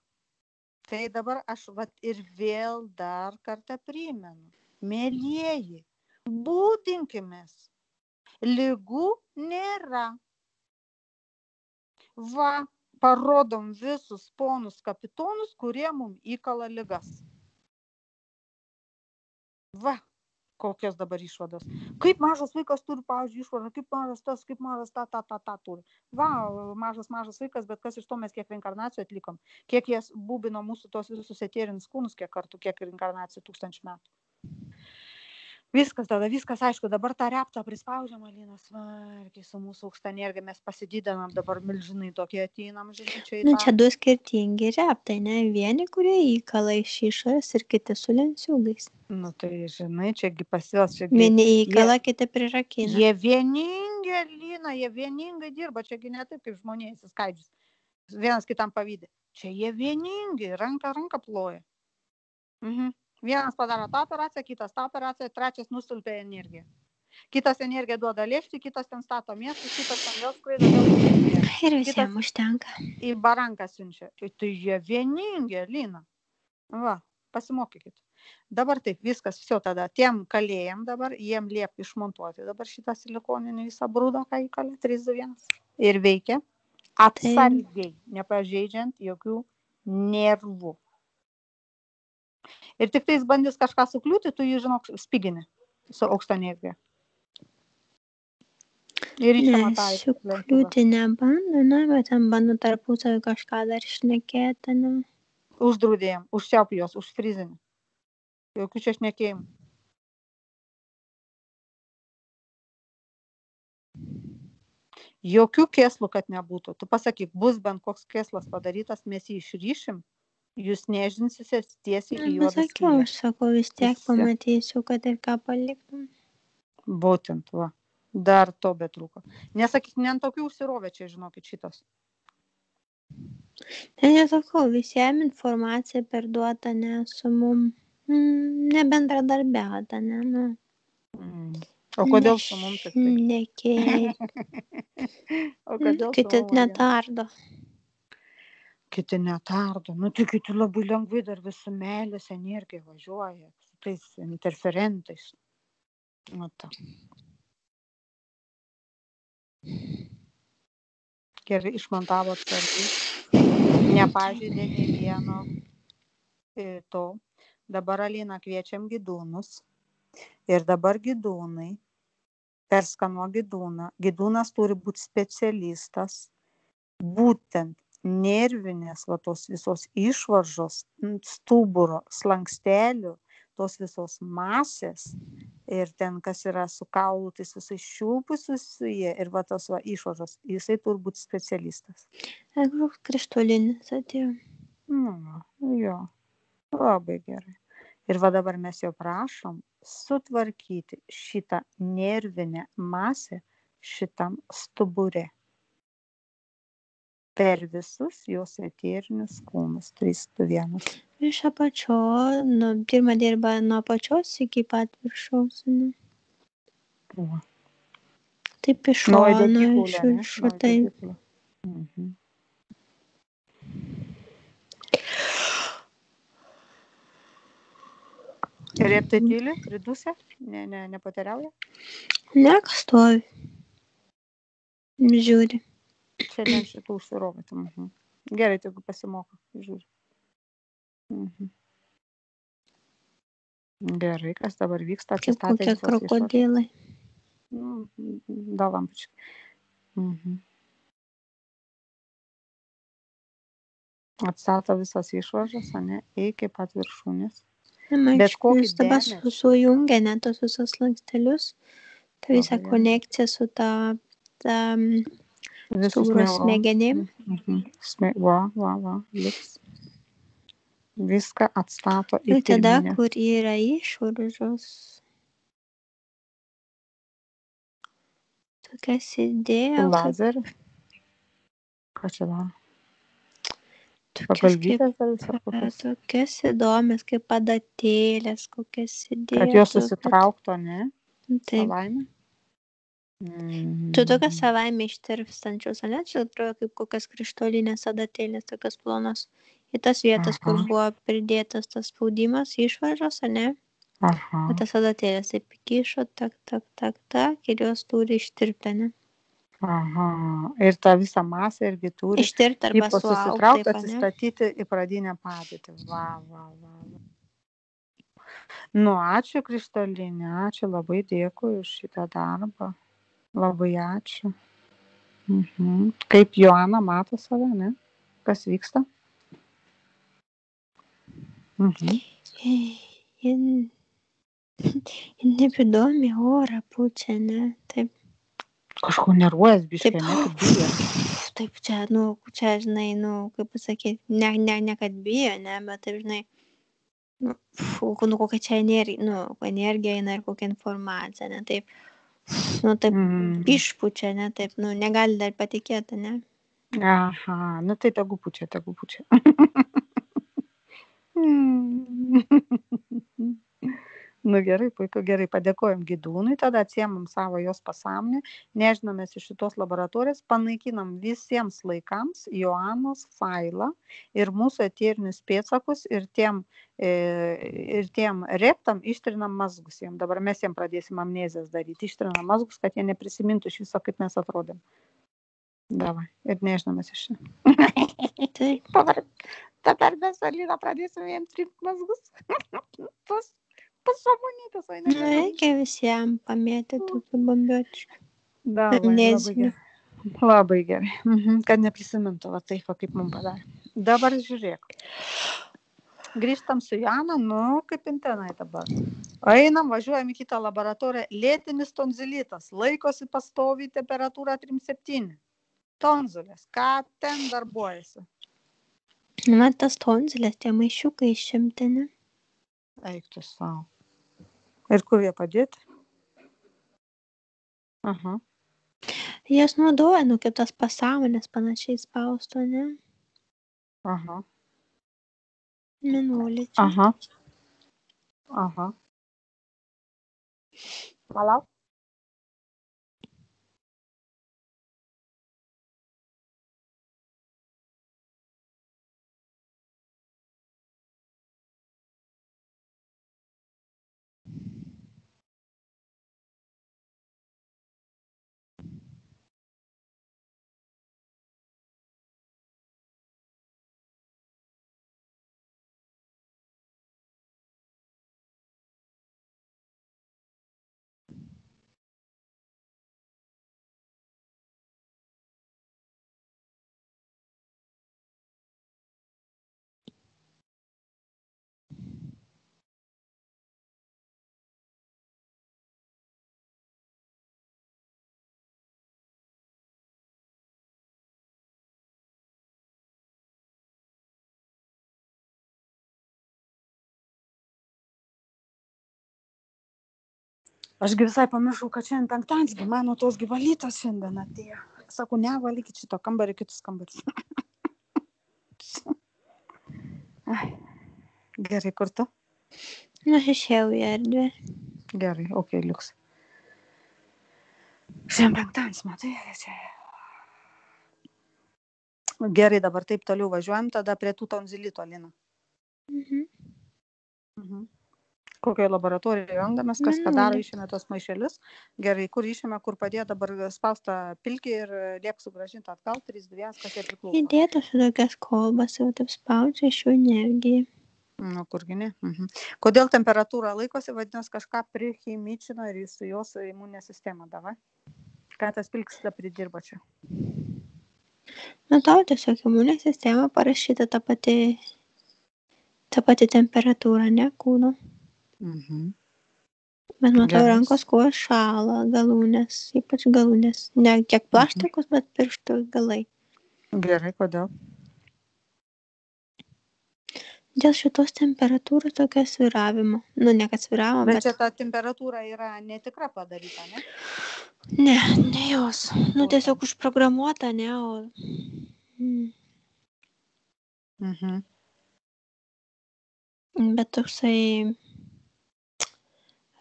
Tai dabar aš ir vėl dar kartą primenu. Mėlieji, būdinkimės. Ligų nėra. Va, parodom visus ponus kapitonus, kurie mums įkala ligas. Va, kokios dabar išvados. Kaip mažas vaikas turi, pavyzdžiui, išvadą, kaip mažas tas, kaip mažas ta turi. Va, mažas vaikas, bet kas iš to mes kiek reinkarnacijų atlikom. Kiek jas būbino mūsų tos visus eterinius kūnus, kiek kartų, kiek reinkarnacijų 1000 metų. Viskas tada, aišku, dabar tą reptą prispaudžiam, Alina, svarkiai su mūsų aukšta energija, mes pasididinam, dabar milžinai tokie ateinam, žinai, čia į tą. Čia du skirtingi reptai, ne? Vieni, kurie įkala iš išorės ir kiti su lenciūgais. Tai, žinai, čiagi pasivels, čiagi. Vieni įkala, kiti prirakina. Jie vieningi, Alina, jie vieningai dirba, čiagi ne taip, kaip žmonės įskaidžius. Vienas kitam pavydė. Čia jie vieningi, ranka ploja. Vienas padaro tą operaciją, kitas tą operaciją, trečias nustulpia energiją. Kitas energiją duoda lėšti, kitas ten stato miestus, kitas ten vėl skraido, vėl energiją. Ir visiems užtenka. Į baranką siunčia. Tai jie vieningi, Lina. Va, pasimokykit. Dabar taip, viskas, viso tada. Tiem kalėjim dabar, jiem liep išmontuoti dabar šitą silikoninį visą brūdą, ką įkalė, 3-2-1. Ir veikia atsargiai, nepažeidžiant jokių nervų. Ir tik tais bandys kažką sukliūti, tu jį, žinok, spigini su aukšta energija. Ne, sukliūti nebando, ne, bet ten bando tarpusavį kažką dar šnekėti, ne. Uždraudėjom, užsiaup jos, užfrizinį. Jokių čia šnekėjimų. Jokių kėslų, kad nebūtų. Tu pasakyk, bus bent koks kėslas padarytas, mes jį išryšim, jūs nežinsitės tiesiai į juodą Pasakiau, skylę. aš sakau, vis tiek Visi. pamatysiu, kad ir ką paliktum. Būtent, va. Dar to betrūko. Nesakyk, ne ant tokių užsirovė čia, žinokit, šitas. Nesakau, visiems informacija perduota, ne su mum. Nebendradarbiauta, ne, nu. O kodėl su mum tik tai? Nekėj. O kodėl su Kiti mum? netardo. Kiti netardo. Nu, tai kiti labai lengvai dar visų meilės energija važiuoja. Su tais interferentais. Nu, ta. Gerai išmontavo atsargiai. Nepažeidė nei vieno to. Dabar Alina kviečiam gydūnus. Ir dabar gydūnai. Perskanuo gydūną. Gydūnas turi būti specialistas. Būtent nervinės, va tos visos išvaržos, stuburo, slankstelių, tos visos masės ir ten, kas yra su kaulu, tais visais šiulpus susiję ir va tos va išvaržos, jisai turi būti specialistas. Jeigu krištolinis atėjo. Nu, jo, labai gerai. Ir va dabar mes jau prašom sutvarkyti šitą nervinę masę šitam stubure. Per visus jos eterinius kūnus. 3, 2, 1. Iš apačios, pirmą dirba nuo apačios iki pat viršaus. Ne? Va. Taip iš šono, iš viršų, taip. Ir tai tyli, pridusė? Nepateriauja? Ne, kas stovi. Žiūri. Šiandien šitų užsirovė. Gerai, jeigu pasimoko. Žiūri. Gerai, kas dabar vyksta? Kaip kokie krokodilai. Dalampučiai. Atstato visas išvaržas, ne, iki pat viršūnės. Bet kokį dabar sujungia net tos visos slankstelius, ta visa konekcija su ta stuburo smegenim. Va, liks. Viską atstato į ir tada, pirminę. kur yra išvaržos, tokias idėjas. Lazerį? Ką čia daro? Tokias įdomias, kaip adatėlės, kokias idėjas. Kad jos susitraukto, ne? Taip. Savaime? Tu tokias savaime ištirpstančios, ne? Čia atrodo kaip kokias krištolinės adatėlės, tokias plonos. Į tas vietas, kur buvo pridėtas tas spaudimas, išvaržos, ne? O tas adatėlės taip įkišo, tak, ir jos turi ištirpti, ne? Ir ta visa masė irgi turi ištirpti arba susitraukti, atsistatyti į pradinę padėtį. Va. Nu, ačiū Krištolinė, ačiū, labai dėkui už šitą darbą. Labai ačiū. Kaip Joana mato save, ne? Kas vyksta? Jin nebedomi orą pučia, ne? Taip. Kažko nervuojas biškai, ne, kaip bijo. Taip, čia, žinai, kaip pasakyti, ne kad bijo, ne, bet taip, žinai, kokia čia energija eina ir kokia informacija, ne, taip, taip, išpučia, ne, taip, negali dar patikėti, ne. Aha, tai tegu pučia. Nu gerai, puiku, gerai, padėkojom gydūnui, tada atsiemam savo jos pasąmonę, nežinomės iš šitos laboratorijos, panaikinam visiems laikams Joanos failą ir mūsų eterinius pėdsakus ir tiem reptam ištrinam mazgus jiem. Dabar mes jiem pradėsim amnezijas daryti, ištrinam mazgus, kad jie neprisimintų iš viso, kaip mes atrodėm. Davai, ir nežinomės iš čia. Taip. Dabar mes Alina pradėsim jiem trinti mazgus. Pasąmonytas, o ne. Reikia visiems pamėtyti tokių bombiotiškų. Labai gerai. Kad neprisimintų, va taip, kaip mums padarė. Dabar žiūrėk. Grįžtam su Jana, kaip intenai dabar. Einam, važiuojam į kitą laboratoriją. Lėtinis tonzilitas. Laikosi pastoviai temperatūra 3,7. Tonzilės. Ką ten darbuojasi? Man tas tonzilės, tie maišiukai išimti, ne? Eik tu savo. Ir kur jie padėti? Aha. Jas naudoja, kaip tas pasąmonės panašiai spausto, ne? Aha. Minulį čia. Aha. Aha. Palauk. Ašgi visai pamiršau, kad šiandien penktadienis, mano tos gyvalytos šiandien atėjo. Sakau, ne, valykit šito kambarį, kitus kambarius. Gerai, kur tu? Aš išėjau į erdvę. Gerai, okei, liuks. Šiandien penktadienis, matai, čia. Gerai, dabar taip toliau važiuojam, tada prie tų tonzilito, Lina. Kokioje laboratorijoje randamės, kas ką daro, išėmė tos maišelius. Gerai, kur išėmė, kur padėjo, dabar spausta pilkį ir liek sugrąžinti atgal, 3-2, kas jie priklauso. Įdėtos tokias kolbas, jau taip spaudžia iš jų energiją. Nu, kurgi ne. Kodėl temperatūra laikosi, vadinasi, kažką prichimičino ir su jos imuninė sistema, davai? Ką tas pilkis tada pridirba čia? Nu, tau tiesiog imuninė sistema parašyta ta pati temperatūra, ne, kūno. Bet matau, rankos kojos šąla, galūnės, ypač galūnės. Ne kiek plaštakos, bet pirštų galai. Gerai, kodėl? Dėl šitos temperatūros tokio svyravimo. Nu, ne kad svyravimo, bet čia ta temperatūra yra netikra padaryta, ne? Ne jos. Nu, tiesiog užprogramuota, ne, o... Bet toksai,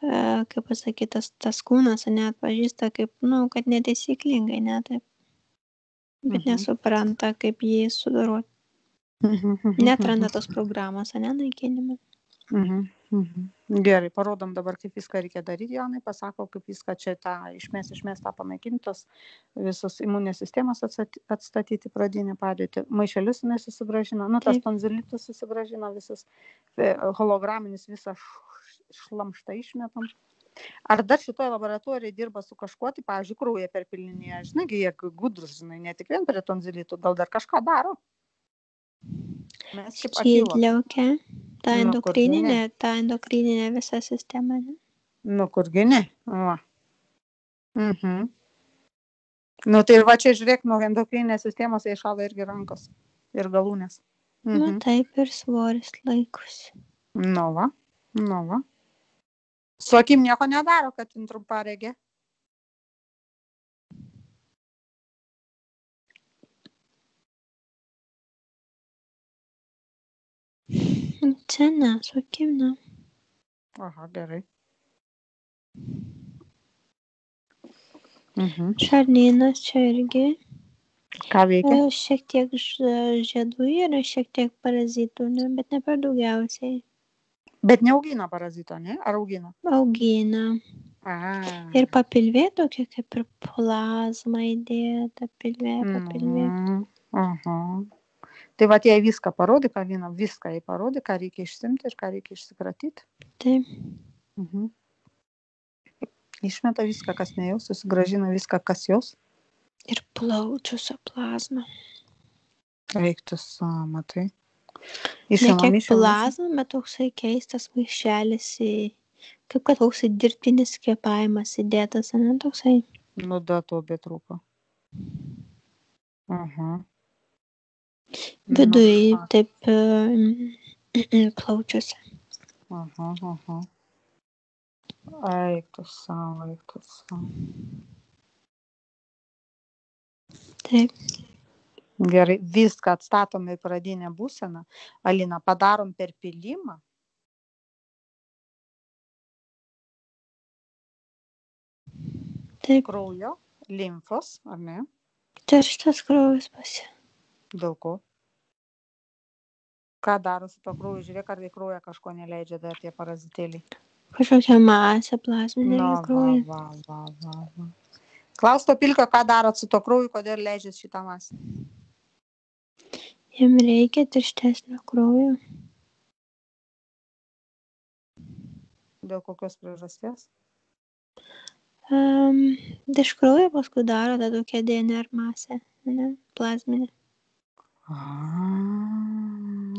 kaip pasakyti, tas kūnas neatpažįsta kaip, nu, kad netaisyklingai, ne, taip. Bet nesupranta, kaip jį sudoroti. Neatranda tos programos, naikinimo. Gerai, parodom dabar, kaip viską reikia daryti, Jonai, pasako, kaip viską čia išmės tą panaikintos, visos imuninės sistemas atstatyti pradinį padėtį. Maišelius nesusigražina, nu, tas tonzilitus susigražina, visas holograminis visą šlamštą išmetam. Ar dar šitoje laboratorijoje dirba su kažkuo, tai, pavyzdžiui, kraują perpilinėje, žinai, jie gudrus, žinai, ne tik vien prie tonzilitų, gal dar kažką daro? Ščydliaukė, ta endokrininė visa sistema, ne? Nu, kurgi ne? Va. Nu, tai va čia žiūrėk, nuo endokrininės sistemos jie šala irgi rankos ir galūnės. Nu, taip ir svoris laikosi. Nu, va. Su akim nieko nedaro, kad trumparegė. Čia ne, su akim ne. Aha, gerai. Šarnynas čia irgi. Ką veikia? Šiek tiek žiedų yra, šiek tiek parazitų, ne, bet ne per daugiausiai. Bet neaugina parazito, ne? Ar augina? Augina. Ir papilvė tokia kaip ir plazma įdėta, papilvė. Aha. Tai va, jai viską parodyk, Alina, viską jai parodyk, ką reikia išsimti ir ką reikia išsikratyti. Taip. Išmeta viską, kas ne jos, susigražina viską, kas jos. Ir plaučiuose plazma. Reiktus, matai. Ne kiek plazma, bet toksai keistas maišelis Kaip kad toksai dirbtinis kvėpavimas įdėtas, ane, toksai. Nu, da, to betrūko. Aha. Viduj Nu, taip plaučiuose. aha. Eik tu savo. Taip. Gerai, viską atstatome į pradinę būseną. Alina, padarom perpilimą. Taip. Kraujo, limfos, ar ne? Tirštas kraujas pasi. Dėl ko? Ką daro su to krauju? Žiūrėk, ar į kraują kažko neleidžia dar tie parazitėliai. Kažkokia masė plasminė Nu, kraujo. va. Klaus to pilkio, ką darot su to krauju, kodėl leidžiat šitą masę? Jam reikia tirštesnio kraujo. Dėl kokios priežasties? Iš kraujo paskui daro tą tokią DNR masę, ne, plasminę.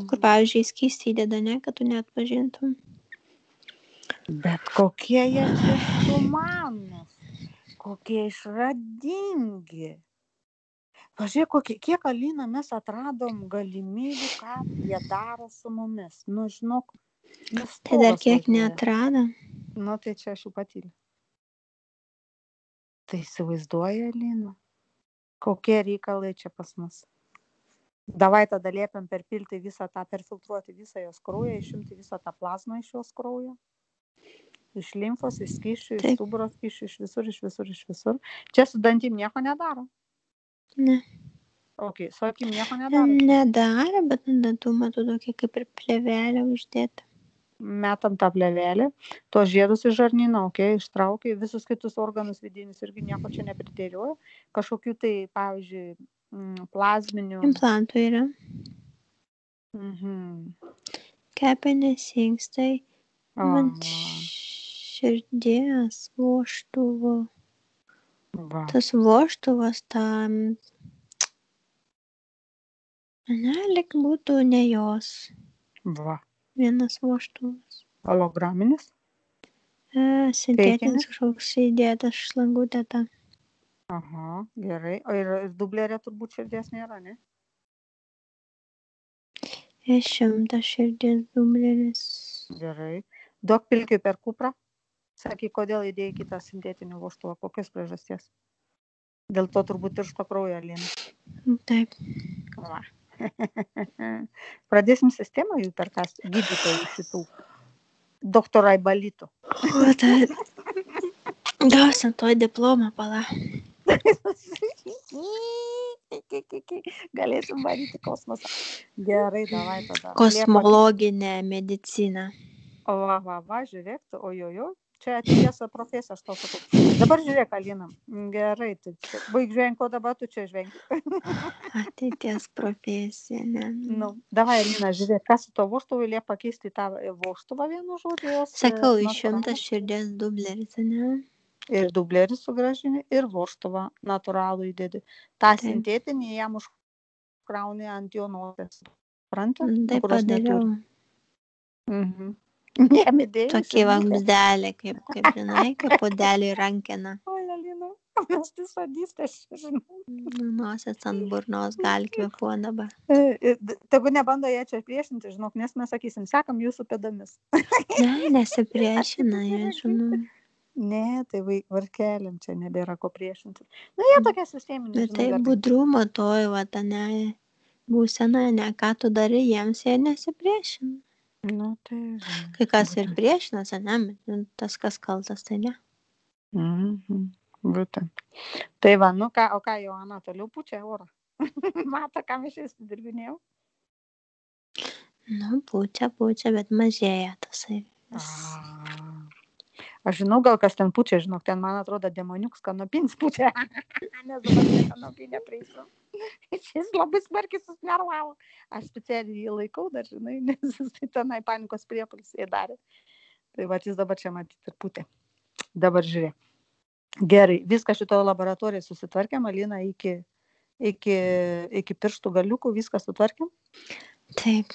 Kur, pavyzdžiui, skystį įdeda, ne, kad tu neatpažintum. Bet kokie jie čia sumanus, kokie išradingi. Pažiūrėk, kiek, Alina, mes atradom galimybių, ką jie daro su mumis. Nu, žinok, Tai dar kiek neatrado. Nu, tai čia aš jau patyliu. Tai įsivaizduoja, Alina, kokie reikalai čia pas mus. Davai tada liepiam perpilti visą tą, perfiltruoti visą jos kraują, išimti visą tą plazmą iš jos kraujo. Iš limfos, iš skysčių, iš stuburo skysčių, iš visur. Čia su dantim nieko nedaro? Ne. Ok, su akim nieko nedaro? Nedaro, bet dantų matau tokia kaip ir plėvelė uždėta. Metam tą plėvelę, tuos žiedus iš žarnyno, ok, ištraukia, visus kitus organus vidinius irgi nieko čia nepridėlioja. Kažkokių tai, pavyzdžiui, plazminių. Implantų yra. Kepenys, inkstai, man širdies, vožtuvo. Tas vožtuvas tam, ne, lyg būtų ne jos. Va. Vienas vožtuvas. Holograminis? Sintetinis kažkoks įdėtas šlangutė ta. Aha, gerai. O ir dublerė turbūt širdies nėra, ne? 100 širdies dubleris. Gerai. Duok pilkiui per kuprą. Sakyk, kodėl įdėjai kitą sintetinį vožtuvą, kokios priežasties? Dėl to turbūt tiršto kraujo, Alina. Taip. Va. Pradėsim sistemą jų perkasti, gydytojų šitų. Doktorai Balytų. O, tai gausim toj diplomą, pala. Galėsim varyti kosmosą. Gerai, davai tada. Kosmologinė medicina. Va, žiūrėk, ojojo. Čia ateities profesija, aš tau sakau. Dabar žiūrėk, Alina. Gerai, tai čia. Baig žvengi, ko dabar tu čia žvengi. Ateities profesija, ne. Nu, davai, Alina, žiūrėk, kas su to vožtuvu liep pakeisti tą vožtuvą vienu žodžiu. Sakau, 100 širdies dubleris, ne. Ir dublerį sugrąžini, ir vožtuvą natūralų įdedi. Ta sintetinį jam užkrauni ant jo nosies. Supranti? Tai padariau. Nemidėjus. Tokį vamzdelį, kaip žinai, kaip puodelį rankena. Oi, Alina, mes tai sadystės, žinau. Nosies ant burnos gali kvėpuo dabar. Tegu nebando jie čia priešinti, žinok, nes mes sakysim, sekam jūsų pėdomis. Ne, nesipriešina, jie žinau. Ne, tai varkeliam čia nebėra ko priešinti. Nu, jie tokie sisteminė, žinai. Tai budrumo toj, va, ne, būsena, ne, ką tu darai, jiems jie nesipriešina. Nu, tai... Kai kas ir priešinas, ne, tas kas kaltas, tai ne. Būtent. Tai va, nu ką, o ką Joana toliau pučia orą? Mata, ką mes šis dirbinėjau? Nu, pučia, bet mažėja tasai. Aš žinau, gal kas ten pučia, žinok, ten, man atrodo, demoniuks kanopins pučia. Nes dabar prie kanopinę prieisiu. Šis labai smarkiai susnervavo. Aš specialiai jį laikau dar, žinai, nes jis tenai panikos priepuolis darė. Tai va, jis dabar čia matyti ir putė. Dabar žiūrėk. Gerai, viską šitoje laboratorijoje susitvarkėm, Alina, iki pirštų galiukų viską sutvarkėm? Taip.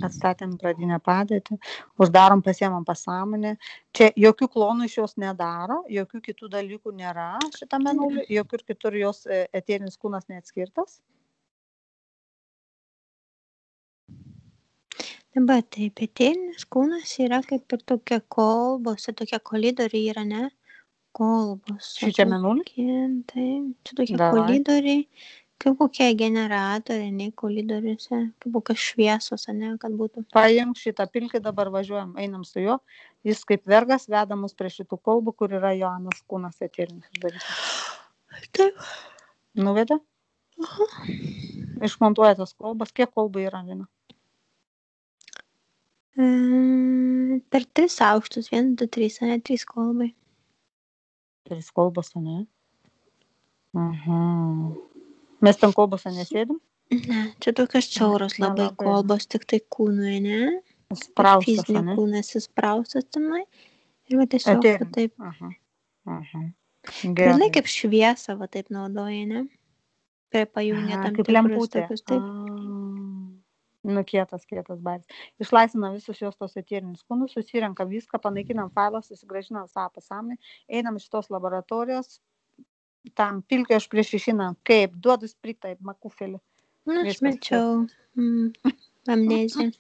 Atstatėm pradinę padėtį, uždarom, pasiemam pasąmonę. Čia jokių klonų iš jos nedaro, jokių kitų dalykų nėra šitame mėnuliui, jokių kitur jos eterinis kūnas neatskirtas. Dabar taip, eterinis kūnas yra kaip ir tokia kolbos, tokie kolidoriai yra, ne? Kolbos. Šičia mėnulį? Taip, čia tokie Davai. kolidoriai, kaip kokie generatoriai, ne kolidoriuose, kaip kokios šviesos, ne, kad būtų. Paimk šitą pilkį, dabar važiuojam, einam su juo. Jis kaip vergas veda mus prie šitų kolbų, kur yra Joanos kūnas eterinis uždarytas. Taip. Nuvedė? Išmontuoja tas kolbas. Kiek kolbų yra, Lina? Per 3 aukštus, 1, 2, 3, ne, 3 kolbai. 3 kolbos, ne? Mes ten kolbose nesėdim? Ne, čia tokios siauros labai kolbos, tik tai kūnui, ne? Spraustas, Fizinio ne? kūnas įspraustas tenai. Ir va tiesiog Eterinis. taip. Gerai. Dažnai kaip šviesą va taip naudoja, ne? Prie pajungia tam Kaip tikrus lemputė. tokius, taip. Nu, kietas baris. Išlaisvinam visus jos tos eterinius kūnus, susirenkam viską, panaikinam failą, susigrąžinam savo pasąmonę, einam iš tos laboratorijos, tam pilkio aš prieš išinam, kaip duodu spritai, makufelį. Na, aš mečiau amneziją.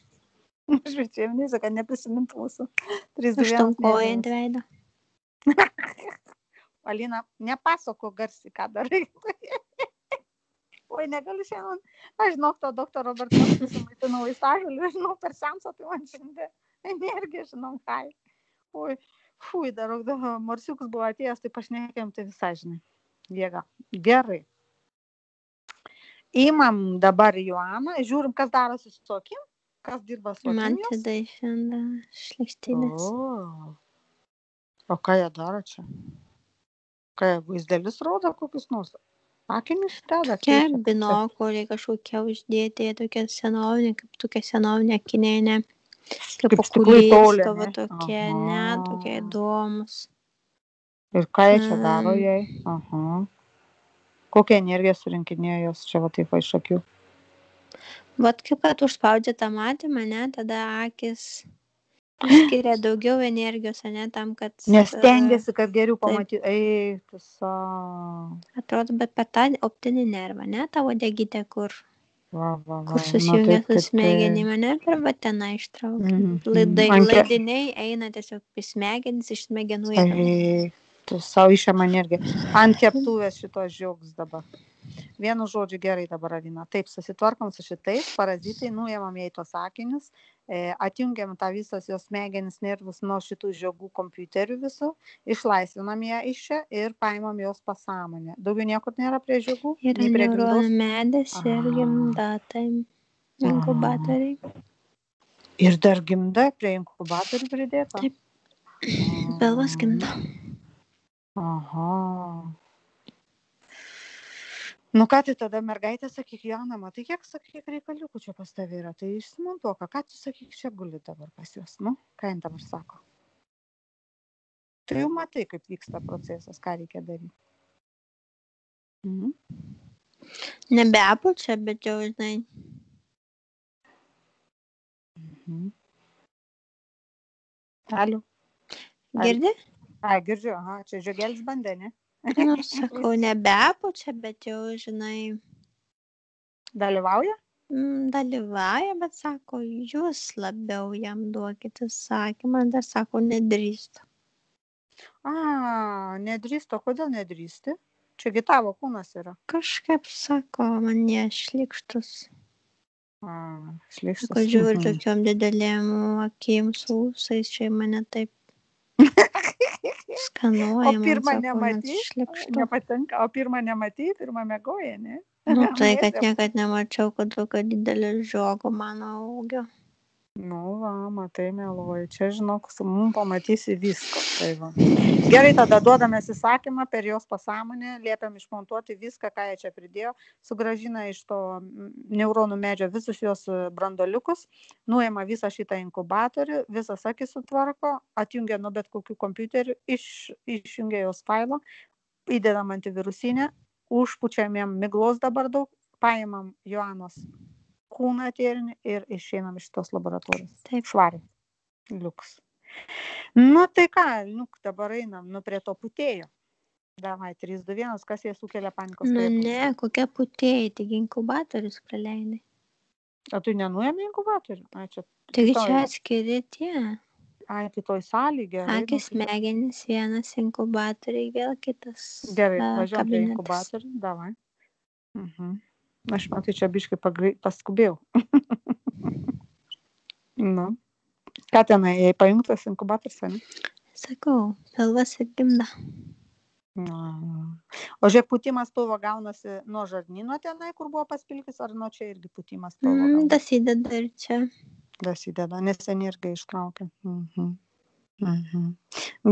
Aš mečiau amneziją, kad neprisimintų mūsų. Užtankojant veidą. Alina, nepasako garsiai, ką darai. Oi, negaliu šiandien. Aš žinau, to doktaro Robertas susimaitinau vaistažolių, žinau, per seansą, tai man šiandien energija, žinau, ką. Oi, fui, dar Marsiukas buvo atėjęs, tai pašnekėjom, tai visai, žinai, jėga. Gerai. Įmam dabar Joaną, žiūrim, kas darosi su akim, kas dirba su akim. Man tada išlenda šlekštynės. O ką jie daro čia? Ką jie vaizdelius rodo kokius nors? Akinius tada? Tokie binokuliai kažkokie uždėti, tokie senovinė, kaip tokia senovinė akinė, kaip okulėsto, va tokie, ne, tokie įdomus. Ir ką jie čia daro jai? Kokią energiją surinkinėjo jos čia va taip iš akių? Vat kaip kad užspaudžia tą matymą, ne, tada akis skiria daugiau energijos, ne, tam, kad... Nes stengiasi, kad geriau pamatyti. Eik, savo. Atrodo, bet per tą optinį nervą, ne, tą uodegytę, kur susijungia su smegenimi, ne, per va tenai ištraukia. Laidiniai eina tiesiog į smegenis, iš smegenų eina. Tu savo išėma energiją. Ant keptuvės šitos žiogs dabar. Vienu žodžiu gerai dabar, Alina. Taip, susitvarkom su šitais, parazitai, nuėmam jai tos akinius, atjungiam tą visas jos smegenis nervus nuo šitų žiogų kompiuterių visų, išlaisvinam ją iš čia ir paimam jos pasąmonę. Daugiau niekur nėra prie žiogų? Yra neuronų medis ir gimda, tai inkubatoriai. Ir dar gimda prie inkubatorių pridėta? Taip, pilvas gimda. Nu ką tai tada mergaitė, sakyk, Joana, matai, kiek, sakyk, reikaliukų čia pas tavį yra, tai išsimontuoka, ką tu, sakyk, čia guli dabar pas juos, nu, ką jin dabar sako? Tu jau matai, kaip vyksta procesas, ką reikia daryti. Nebepučia, bet jau, žinai. Aliu. Girdi? Girdžiu, čia žiogėlis bandė, ne? Nu, sakau, nebepučia, bet jau, žinai. Dalyvauja? Dalyvauja, bet sako, jūs labiau jam duokite sakymą, dar sako, nedrįstu. Nedrįstu, kodėl nedrįsti? Čiagi tavo kūnas yra. Kažkaip sako, man jie šlikštus. Šlikštus. Sako, žiūri tokiom didelėm akim su ūsais, čia mane taip skanuoja. O pirmą nepatinka, o pirmą nematai, pirmą mėgoja, ne? Nu, tai, kad niekad nemačiau, kad tokio didelio žiogo mano ūgio. Nu, va, matai, meluoju. Čia, žinok, mums pamatysi visko. Tai va. Gerai, tada duodame įsakymą per jos pasąmonę, liepiam išmontuoti viską, ką jie čia pridėjo, sugrąžina iš to neuronų medžio visus jos brandoliukus, nuima visą šitą inkubatorių, visas akis sutvarko, atjungia nuo bet kokių kompiuterių, išjungia jos failą, įdedam antivirusinę, užpučiam jam miglos dabar daug, paimam Joanos kūną eterinį ir išeinam iš tos laboratorijos. Taip. Švariai. Liuks. Nu tai ką, dabar einam, prie to putėjo. Davai, 3, 2, 1, kas jie sukelia panikos Nu priepuolį? ne, kokia putėjai, taigi inkubatorius praleidai. O tu nenuėmė inkubatorių? Ai, čia Taigi kitoj, čia atskiri tie. kitoj salėj, gerai. Akis, smegenys, vienas inkubatoriai, vėl kitas Gerai, važiuojam prie kabinetas. inkubatorių, davai. Aš matai, čia biškai paskubėjau. Nu. Ką tenai, jei pajungtas inkubatorius, ne? Sakau, pilvas ir gimda. O žiūrėk, pūtimas pilvo gaunasi nuo žarnyno tenai, kur buvo paspilkis, ar nuo čia irgi pūtimas pilvo gaunasi? Dasideda ir čia. Dasideda, nes energiją ištraukia.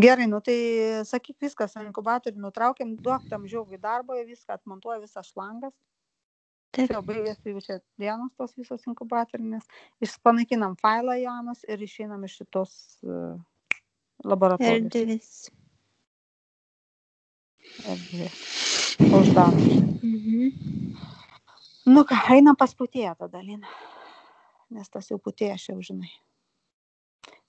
Gerai, tai sakyk viskas, inkubatorių nutraukiam, duok tam žiaugui darbo, viską atmontuoja, visas šlangas. Taip. Jau baigėsi jau čia dienos tos visos inkubatorinis. Panaikinam failą Jonas ir išeinam iš šitos laboratorijos. Erdvės. Uždarom. Nu ką, einam pas putėją tada, Lina. Nes tas jau putėjas jau žinai.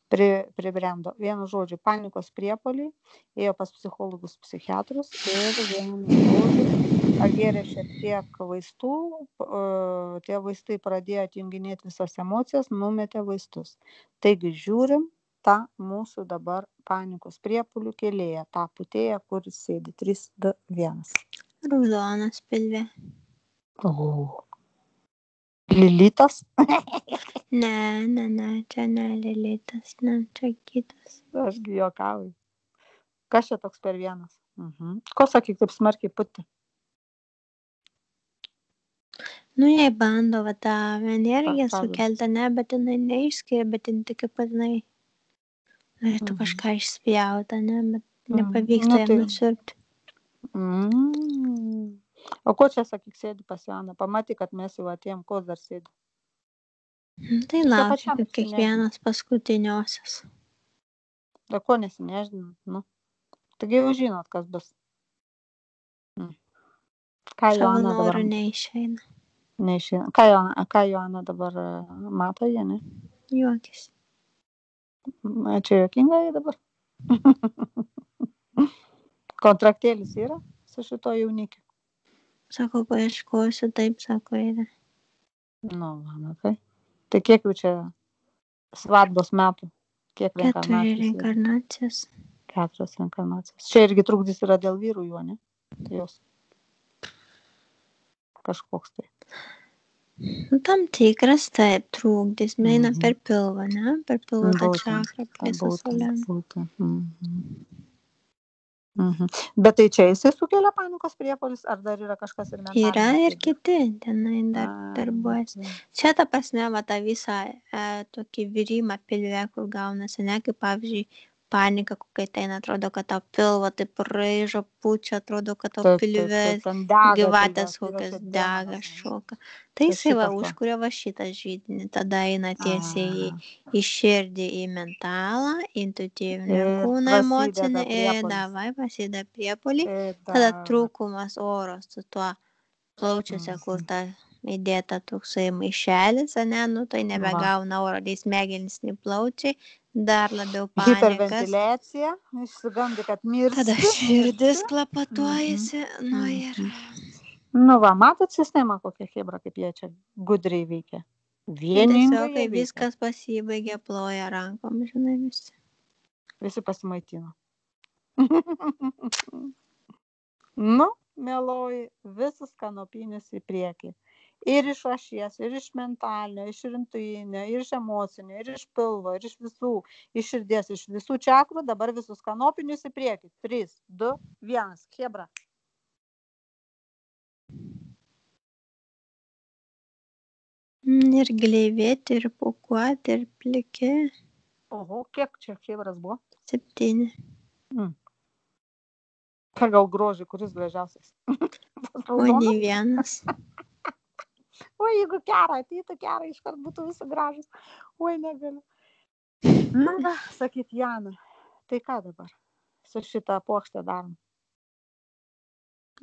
Pribrendo. Vienu žodžiu, panikos priepuoliai, ėjo pas psichologus, psichiatrus ir vienu žodžiu, pagėrė šiek tiek vaistų, tie vaistai pradėjo atjunginėti visas emocijas, numetė vaistus. Taigi žiūrim tą mūsų dabar panikos priepuolių kėlėją, tą putėją, kuris sėdi 3, 2, 1. Raudonas pilve. Lilitas? Ne, čia ne Lilitas, ne, čia kitas. Ašgi juokauju. Kas čia toks per vienas? Ko sakyk, taip smarkiai puti? Nu, jei bando va tą energiją sukeltą, ne, bet jinai neišskiria, bet jinai tik patinai. Norėtų kažką išspjauta, ne, bet nepavyksta jam nusirpti. O ko čia, sakyk, sėdi pas Joną? Pamatai, kad mes jau atėjom, ko dar sėdi? Tai laukia, kaip kiekvienas paskutiniosios. O ko nesineždinat? Nu. Taigi jau žinot, kas bus. Ką Savo Joana dabar... norų neišeina. Neišeina. Ką Joana dabar mato, jie, ne? Juokis. Čia juokinga jie dabar. Kontraktėlis yra su šito jaunikiu? Sako, paieškosiu, taip, sako, yra. Nu, matai. Tai kiek jau čia svadbos metų? Kiek 4 reinkarnacijas. 4 reinkarnacijas. Čia irgi trukdys yra dėl vyrų juo, ne? Jos. Kažkoks tai. Tam tikras taip trukdys, eina per pilvą, ne? Per pilvą tą čakrą, visą solėną. Bet tai čia jisai sukelia panikos priepuolius, ar dar yra kažkas ir mentalinės? Yra ir kiti, tenai dar darbuojasi. Čia ta prasme, va tą visą tokį virimą pilve, kur gaunasi, ne, kaip pavyzdžiui, panika, kokia ten atrodo, kad tau pilvo taip raižo, pučia, atrodo, kad tau pilve gyvatės kokias dega, šoka. Tai jisai va užkuria va šitą židinį, tada eina tiesiai į širdį, į mentalą, intuityvinį kūną, emocinį ir davai prasideda priepuolį, tada trūkumas oro su tuo plaučiuose, kur ta įdėta toksai maišelis, ne, nu tai nebegauna oro, tai smegenys, nei plaučiai, dar labiau panikas. Hiperventiliacija, išsigandi, kad mirsti. Tada širdis klapatuojasi, nu ir... Nu va, matot sistemą kokią chebra, kaip jie čia gudriai veikia. Vieningai tiesiog, kai viskas pasibaigė, ploja rankom, žinai, visi. Visi pasimaitino. Nu, mieloji, visas kanopinis į priekį. Ir iš ašies, ir iš mentalinio, iš intuitinio, ir iš emocinio, ir iš pilvo, ir iš visų, iš širdies, iš visų čakrų, dabar visus kanopinius į priekį. 3, 2, 1, chebra. Ir gleivėti, ir pūkuoti, ir pliki. Oho, kiek čia chebras buvo? 7. Pagal grožį, kuris gražiausias? O nei vienas. O jeigu Kera ateitų, Kera iškart būtų visi gražus. Oi, negaliu. Na, va, sakyt, Jana, tai ką dabar su šitą puokštę darom?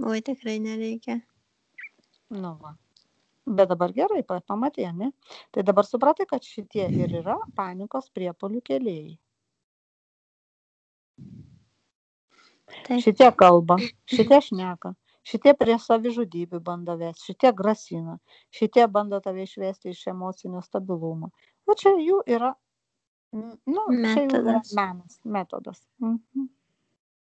Oi, tikrai nereikia. Nu, va. Bet dabar gerai, pamatė, ne? Tai dabar supratai, kad šitie ir yra panikos priepuolių kėlėjai. Taip. Šitie kalba, šitie šneka, šitie prie savižudybių bando vesti, šitie grasina, šitie bando tave išvesti iš emocinio stabilumo. O čia jų yra, čia jų yra Metodas. metodas.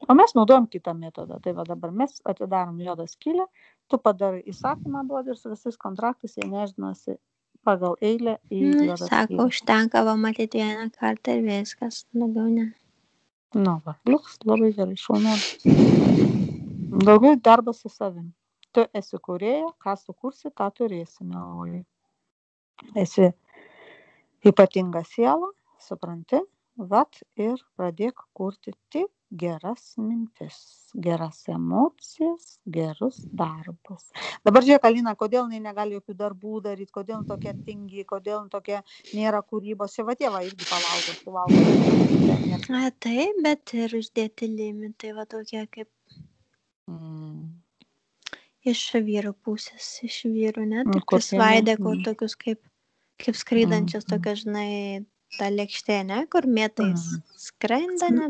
O mes naudojam kitą metodą. Tai va dabar mes atidarom juodą skylę, tu padarai įsakymą duodi ir su visais kontraktais jie nešdinasi pagal eilę į juodą Sako, skylę. užtenka pamatyti vieną kartą ir viskas, daugiau ne. Nu va, liuks, labai gerai, šaunuolis. Daugiau darbas su savim. Tu esi kūrėja, ką sukursi, tą turėsi, mieloji. Esi ypatinga siela, supranti, vat ir pradėk kurti tik geras mintis, geras emocijas, gerus darbus. Dabar žiūrėk, Alina, kodėl jinai negali jokių darbų daryti, kodėl jinai tokia tingi, kodėl jinai tokia nėra kūrybos. Čia va tėva irgi suvalgo. Taip, bet ir uždėti limitai, va tokie kaip iš vyrų pusės, iš vyrų, ne? Tai prisvaidė tokius kaip skraidančias tokias, žinai, ta lėkštė, ne? Kur mėtais skrenda, ne?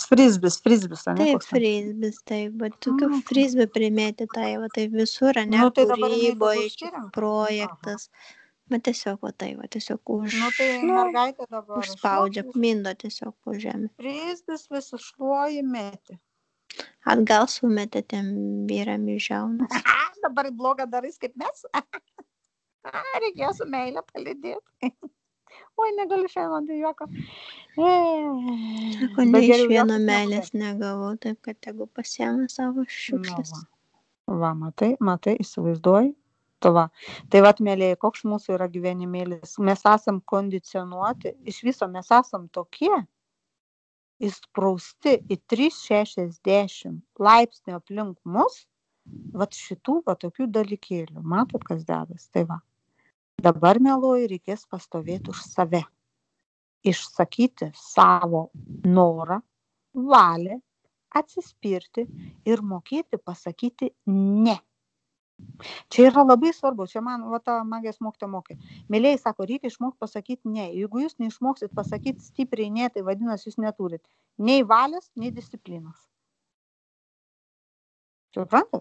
Frisbis, ne? Taip, frisbis, taip, bet tokių frisbį primėti, tai va taip visur, ne? Kūryboje, projektas. Bet tiesiog va tai, va tiesiog užspaudžia, mindo tiesiog po žemę. Frisbis vis užšluoji mėti. Atgal sumetė tiem vyram į žiaunas. Dabar blogą darys kaip mes? Reikėjo su meilė palydėti. Oi, negaliu šiandien tai juoko. Sako, ne iš vieno meilės negavau, taip kad tegu pasiema savo šiukšles. Va, matai, įsivaizduoji. Tai vat, mėlėjai, koks mūsų yra gyvenimėlis. Mes esam kondicionuoti, iš viso mes esam tokie, įsprausti į 360 laipsnių aplink mus, vat šitų, va tokių dalykėlių. Matot, kas dedas? Tai va. Dabar, mieloji, reikės pastovėti už save. Išsakyti savo norą, valią, atsispirti ir mokėti pasakyti ne. Čia yra labai svarbu, čia man va ta magijos mokytoja mokė. Mėlėjai sako, reikia išmokti pasakyti ne. Jeigu jūs neišmoksit pasakyti stipriai ne, tai vadinasi, jūs neturit nei valios, nei disciplinos. Suprantat?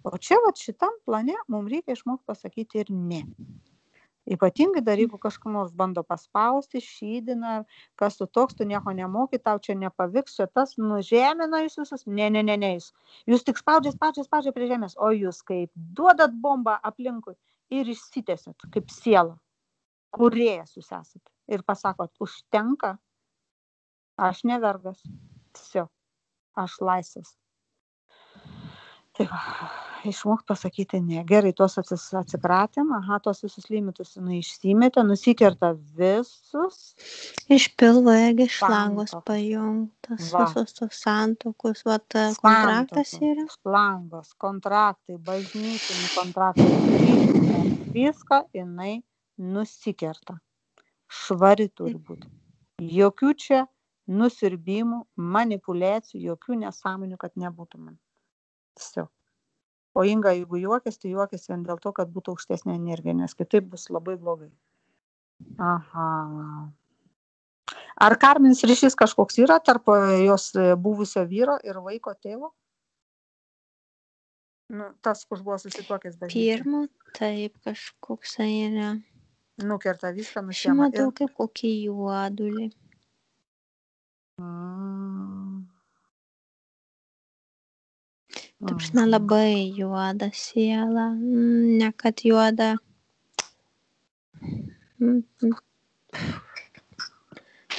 O čia va šitam plane mums reikia išmokti pasakyti ir ne. Ypatingai dar, jeigu kažkas nors bando paspausti, šydina, kas tu toks, tu nieko nemoki, tau čia nepavyks, čia tas nužemina jūs visus. Ne, jūs tik spaudžiat prie žemės, o jūs kaip duodat bombą aplinkui ir išsitęsit, kaip siela, kūrėjas jūs esat. Ir pasakot, užtenka, aš ne vergas, tiesiog, aš laisvas. Tai va, išmokti pasakyti ne. Gerai, tuos atsikratėm, tuos visus limitus jinai išsimetė, nusikerta visus. Iš pilvo ėgi šlangos pajungtas, visos tos santuokos, kontraktas yra. Šlangos, kontraktai, bažnytiniai kontraktai, viską jinai nusikerta. Švari turi būti. Jokių čia nusirbimų, manipuliacijų, jokių nesąmonių, kad nebūtų man. Tiesiog. O Inga, jeigu juokės, tai juokės vien dėl to, kad būtų aukštesnė energija, nes kitaip bus labai blogai. Aha. Ar karminis ryšys kažkoks yra tarp jos buvusio vyro ir vaiko tėvo? Tas, kur buvo susituokęs bažnyčiai. Pirmo, taip, kažkoks yra. Nukerta viską, nusiema. Aš matau kaip kokį juodulį. Taip, labai juoda siela, ne kad juoda.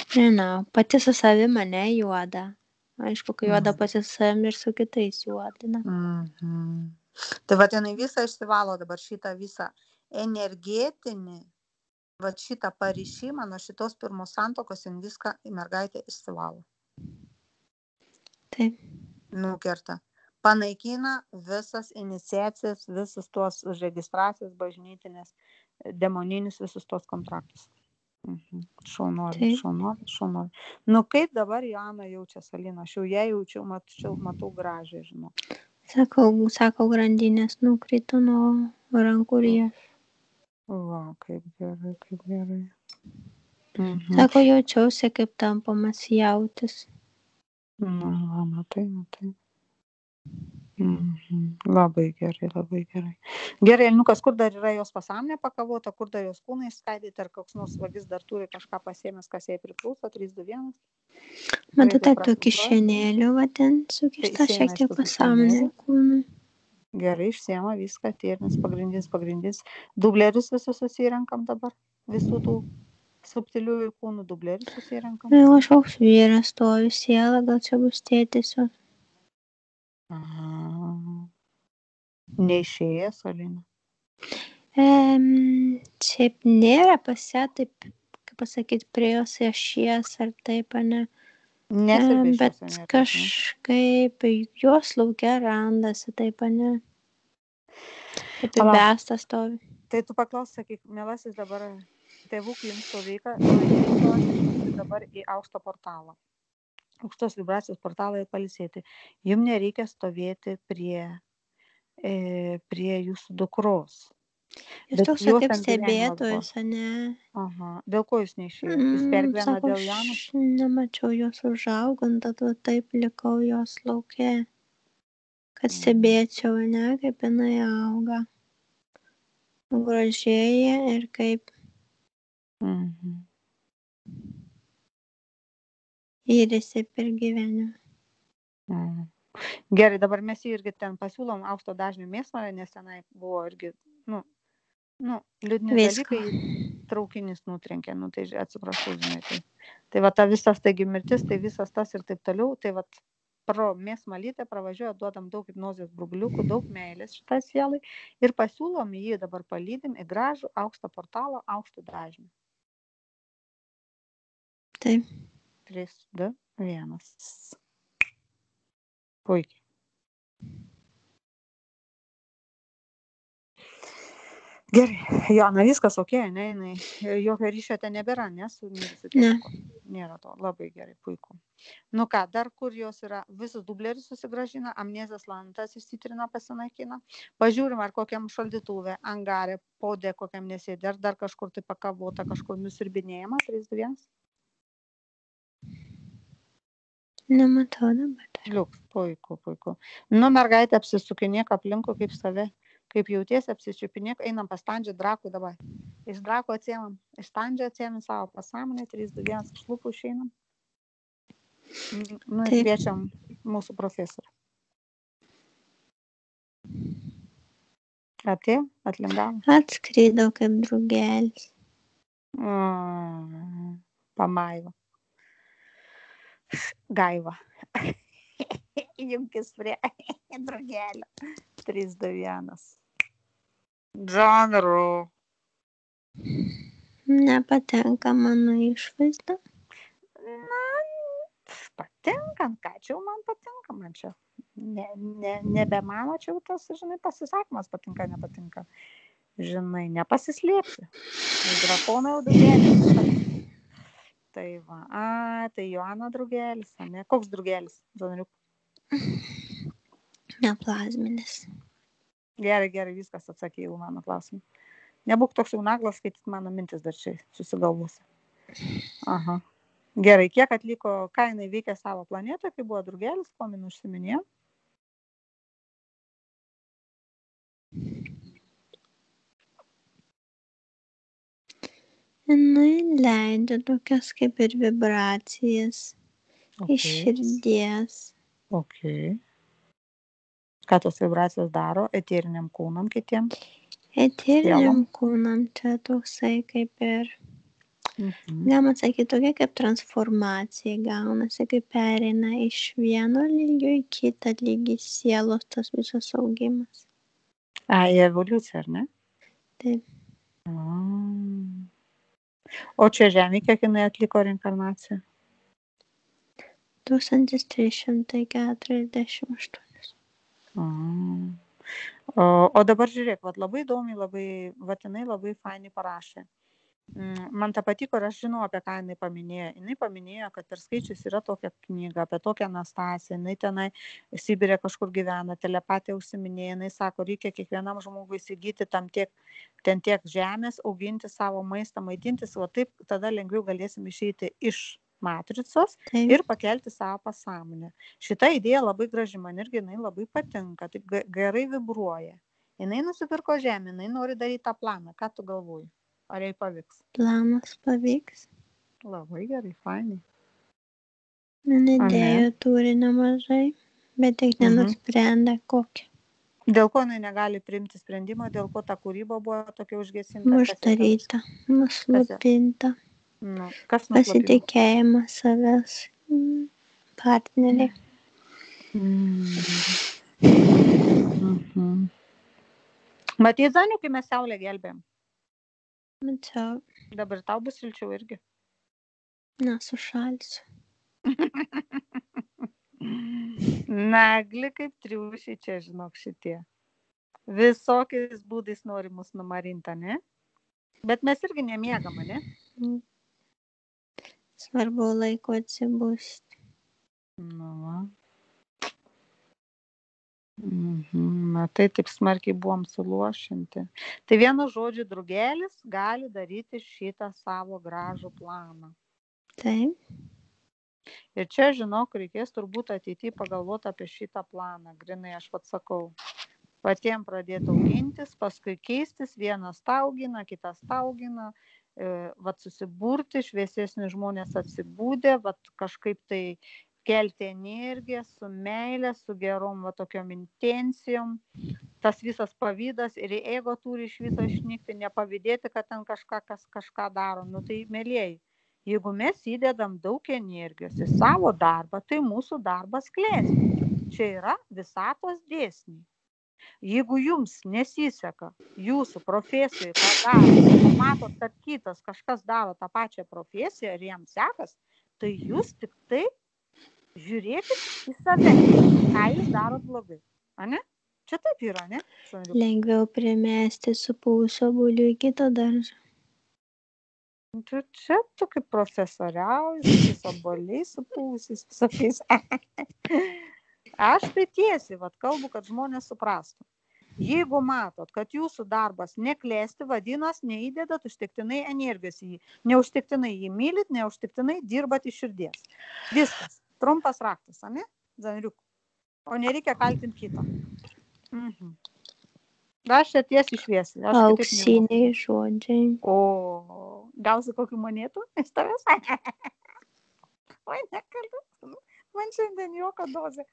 Nežinau, pati su savimi ne juoda. Aišku, kai juoda pati su savimi ir su kitais juodina. Tai va, jinai visą išsivalo dabar šitą visą energetinį, va šitą paryšimą nuo šitos pirmos santuokos, jin viską į mergaitę išsivalo. Taip. Nukerta. Panaikina visas iniciacijas, visus tuos registracijas bažnytinės, demoninius visus tuos kontraktus. Šaunuolį. Nu kaip dabar Joana jaučia, Alina? Aš jau ją jaučiau, matau gražiai, žinau. Sako, grandinės nukrito nuo rankų riešų. Va, kaip gerai. Mhm. Sako, jaučiausi, kaip tampomas jautis. Na, matai. Labai gerai. Gerai, Elniukas, kur dar yra jos pasąmonė pakavota, kur dar jos kūnai skaidyti, ar koks nors vagis dar turi kažką pasiėmęs, kas jai priklauso, 3, 2, 1. Matau, tų kišenėlių, va ten sukišta šiek tiek pasąmonė kūnui. Gerai, išsiema viską, tėrinis, pagrindinis. Dublerius visus susirenkam dabar, visų tų subtiliųjų kūnų dublerius susirenkam. Kažkoks vyras stovi, siela, gal čia bus tėtis. Aha. Neišėjęs, Alina? Šiaip nėra pas ją, taip, kaip pasakyti, prie jos ašies ar taip, ne. Bet kažkaip jos laukia randasi, taip, ne. Taip įbestas stovi. Tai tu paklaus, sakyk, mielasis, dabar tėvų klimpsto veiką, nueiti dabar į aukštą portalą. Aukštos vibracijos portalą ir palisėti. Jums nereikia stovėti prie jūsų dukros. Jūs toks kaip stebėtojas, ne? Aha. Dėl ko jūs neišėjo? Jūs pergyvena dėl Janos? Aš nemačiau jos užaugant, tad taip likau jos lauke. Kad stebėčiau, ne, kaip jinai auga. Gražėja ir kaip įrėsi per gyvenimą. Gerai, dabar mes irgi ten pasiūlom aukšto dažnio mėsmalę, nes tenai buvo irgi, liūdni dalykai, traukinys nutrenkė, tai atsiprašau, žinai. Tai va ta visas, taigi mirtis, tai visas tas ir taip toliau, tai va pro mėsmalytę pravažiuoja, duodam daug hipnozės brubliukų, daug meilės šitai sielai ir pasiūlom jį dabar palydim į gražų aukštą portalą, aukštų dažnių. Taip. 3, 2, 1. Puikiai. Gerai, Joana, viskas ok, ne, jokio ryšio ten nebėra, ne, su mirusiu tėvuku? Nėra to, labai gerai, puiku. Nu ką, dar kur jos yra, visus dublerius susigražina, amnezijos lantas išsitrina, pasinaikina, pažiūrim, ar kokiam šaldytuvė, angarė, podė kokiam nesėdė, ar dar kažkur tai pakavota, kažkur nusirbinėjama, 3, 2, 1. Nematau dabar. Liuks, puiku. Nu, mergaitė, apsisukinėk aplinkui kaip save, kaip jautiesi, apsičiupinėk, einam pas Standžią Drakų dabar. Iš Drakų atsiemam, iš Standžią atsiemam savo pasąmonę, 3, 2, 1, iš lūpų išeinam. Nu, ir kviečiam mūsų profesorių. Atėjo, atlingavo. Atskridau kaip drugelis. Pamaiva. Gaiva. Junkis prie drugelio. 3, 2, 1. Žanru. Nepatenka mano išvaizda. Na, patinka, ką čia man patinka, man čia. Nebe mano čia tas, žinai, pasisakymas patinka, nepatinka. Žinai, nepasislėpsi. Drakonai jau drugelis. Tai va, tai Joana drugelis, ne? Koks drugelis, Žanriuk? Neplazminis. Gerai, viskas atsakėjau mano klausimą. Nebūk toks jau naglas, skaityt mano mintis dar čia susigalvosi. Aha. Gerai, kiek atliko, ką jinai veikė savo planetoje, kai buvo drugelis, ko min užsiminėjo? Jinai leidžia tokias kaip ir vibracijas iš širdies. Ok. Ką tos vibracijos daro eteriniam kūnam kitiem? Eteriniam kūnam čia toksai kaip ir, galima sakyti, tokia kaip transformacija gaunasi, kaip pereina iš vieno lygio į kitą lygį sielos tas visas augimas. Į evoliuciją, ar ne? Taip. O čia Žemė, kiek jinai atliko reinkarnaciją? 1348. O dabar žiūrėk, labai įdomiai, jinai labai fainai parašė. Man ta patiko ir aš žinau, apie ką jinai paminėjo. Jinai paminėjo, kad per skaičius yra tokia knyga apie tokią Anastasiją. Jinai tenai Sibirė kažkur gyvena, telepatija užsiminėja. Jinai sako, reikia kiekvienam žmogui įsigyti ten tiek žemės, auginti savo maistą, maitintis. O taip tada lengviau galėsim išeiti iš matricos ir pakelti savo pasąmonę. Šita idėja labai graži, man irgi jinai labai patinka, taip gerai vibruoja. Jinai nusipirko žemę, jinai nori daryti tą planą. Ką tu galvoji? Ar jai pavyks? Planas pavyks. Labai gerai, fainai. Idėjų turi nemažai, bet tik nenusprendė kokią. Dėl ko jinai negali priimti sprendimo, dėl ko ta kūryba buvo tokia užgesinta? Uždaryta, nuslopinta. Kas nuslopinta? Pasitikėjimas savęs partneriai. Matai, Zaniu, kai mes saulę gelbėjom? Mačiau. Dabar tau bus šilčiau irgi. Nesušalsiu. Nagli kaip triušiai čia, žinok, šitie. Visokiais būdais nori mus numarinta, ne? Bet mes irgi nemiegama, ne? Svarbu laiko atsibusti. Matai, taip smarkiai buvom suluošinti. Tai vienu žodžiu, drugelis gali daryti šitą savo gražų planą. Taip. Ir čia, žinok, reikės turbūt ateityje pagalvoti apie šitą planą. Grinai, aš pats sakau, patiem pradėti augintis, paskui keistis, vienas taugina, kitas taugina, vat susiburti, šviesesni žmonės atsibūdė, vat kažkaip tai kelti energiją su meilė, su gerom va tokiom intencijom. Tas visas pavydas ir ego turi iš viso išnykti, nepavydėti, kad ten kažką daro. Tai mėlieji, jeigu mes įdedam daug energijos į savo darbą, tai mūsų darbas klesti. Čia yra visatos dėsniai. Jeigu jums nesiseka jūsų profesijoje, ką daro, matot, kad kitas kažkas daro tą pačią profesiją ir jam sekas, tai jūs tik tai žiūrėkit į save, ką jūs darot blogai. Ane? Čia taip yra, ne? Lengviau primesti supūsio bulių į kitą daržą. Čia tu kaip profesoriauji, su tais oboliais supūsiais, visokiais. Aš tai tiesiai kalbu, kad žmonės suprastų. Jeigu matot, kad jūsų darbas neklesti, vadinasi, neįdedat užtektinai energijos į jį. Neužtektinai jį mylit, neužtektinai dirbat iš širdies. Viskas. Trumpas raktas, ane? Zanriuk. O nereikia kaltinti kito. Aš čia tiesiai šviesiai. Auksiniai žodžiai. O, gausi kokių monėtų iš tavęs? Oi, nekalbėt. Man šiandien jokio dozė.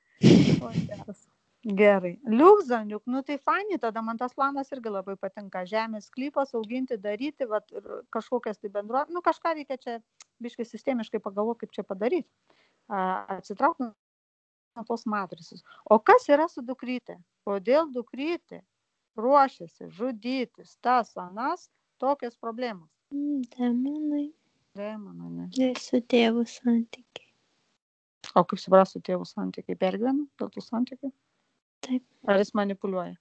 Gerai. Liukzaniuk, tai fainai, tada man tas planas irgi labai patinka. Žemės sklypas, auginti, daryti, kažkokias tai bendruomenės, kažką reikia čia biškai sistemiškai pagalvoti, kaip čia padaryti. Atsitraukti nuo tos matrices. O kas yra su dukrytė? Kodėl dukrytė ruošiasi žudytis, tas, anas, tokios problemos? Demonai. Demonai, ne? Ir su tėvų santykiai. O kaip supras su tėvų santykiai? Pergyvena dėl tų santykių? Taip. Ar jis manipuliuoja?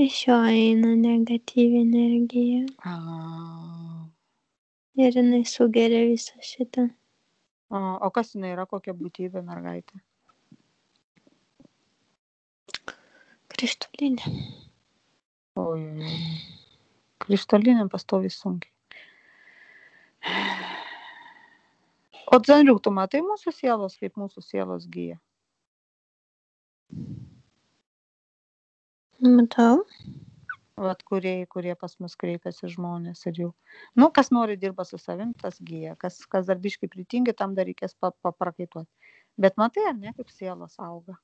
Iš jo eina negatyvi energija. Ir jinai sugeria visą šitą. O kas jinai yra, kokia būtybė mergaitė? Krištolinė. Oi. Krištolinė pastoviai sunkiai. O Zanriuk, tu matai mūsų sielos, kaip mūsų sielos gyja? Matau. Kurie pas mus kreipiasi žmonės ir jau. Kas nori dirba su savim, tas gyja. Kas dar biškai pritingi, tam dar reikės paprakaituoti. Bet matai, ar ne, kaip sielos auga?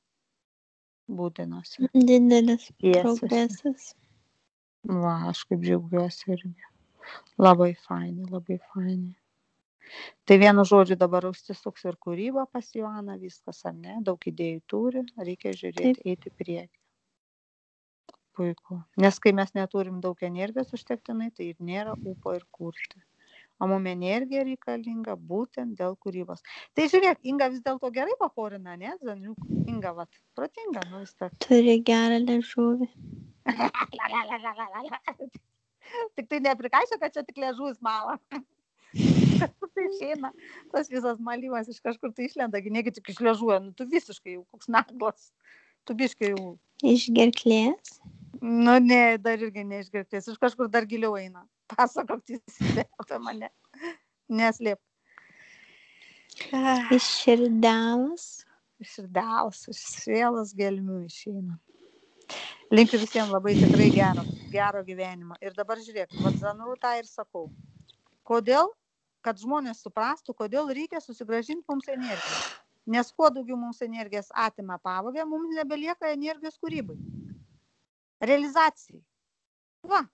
Būdinasi. Didelis progresas. Aš kaip džiaugiuosi irgi. Labai fainai, labai fainai. Tai vienu žodžiu dabar užsisuks ir kūryba pas Joaną, viskas, ar ne? Daug idėjų turi, reikia žiūrėti, eiti priekį. Puiku. Nes kai mes neturim daug energijos užtektinai, tai ir nėra ūpo ir kurti. O mums energija reikalinga būtent dėl kūrybos. Tai žiūrėk, Inga vis dėlto gerai paporina, ne? Inga, protinga, vis tiek. Turi gerą liežuvį. Tik tai neprikaišia, kad čia tik liežuvis mala. Kažkur tai išeina, tas visas malymas iš kažkur tai išlenda, negi tik iš liežuoja, nu tu visiškai jau koks naglas, tu biškai jau. Iš gerklės? Nu ne, dar irgi neišgerklės, iš kažkur dar giliau eina. Pasakok teisybę apie mane, neslėp. Iš širdelos? Iš širdelos, iš sielos gelmių išeina. Linkiu visiems labai tikrai gero gyvenimo. Ir dabar žiūrėk, vat Zanru tą ir sakau. Kodėl? Kad žmonės suprastų, kodėl reikia susigrąžinti mums energiją. Nes kuo daugiau mums energijos atima pavogė, mums nebelieka energijos kūrybai. Realizacijai. Va,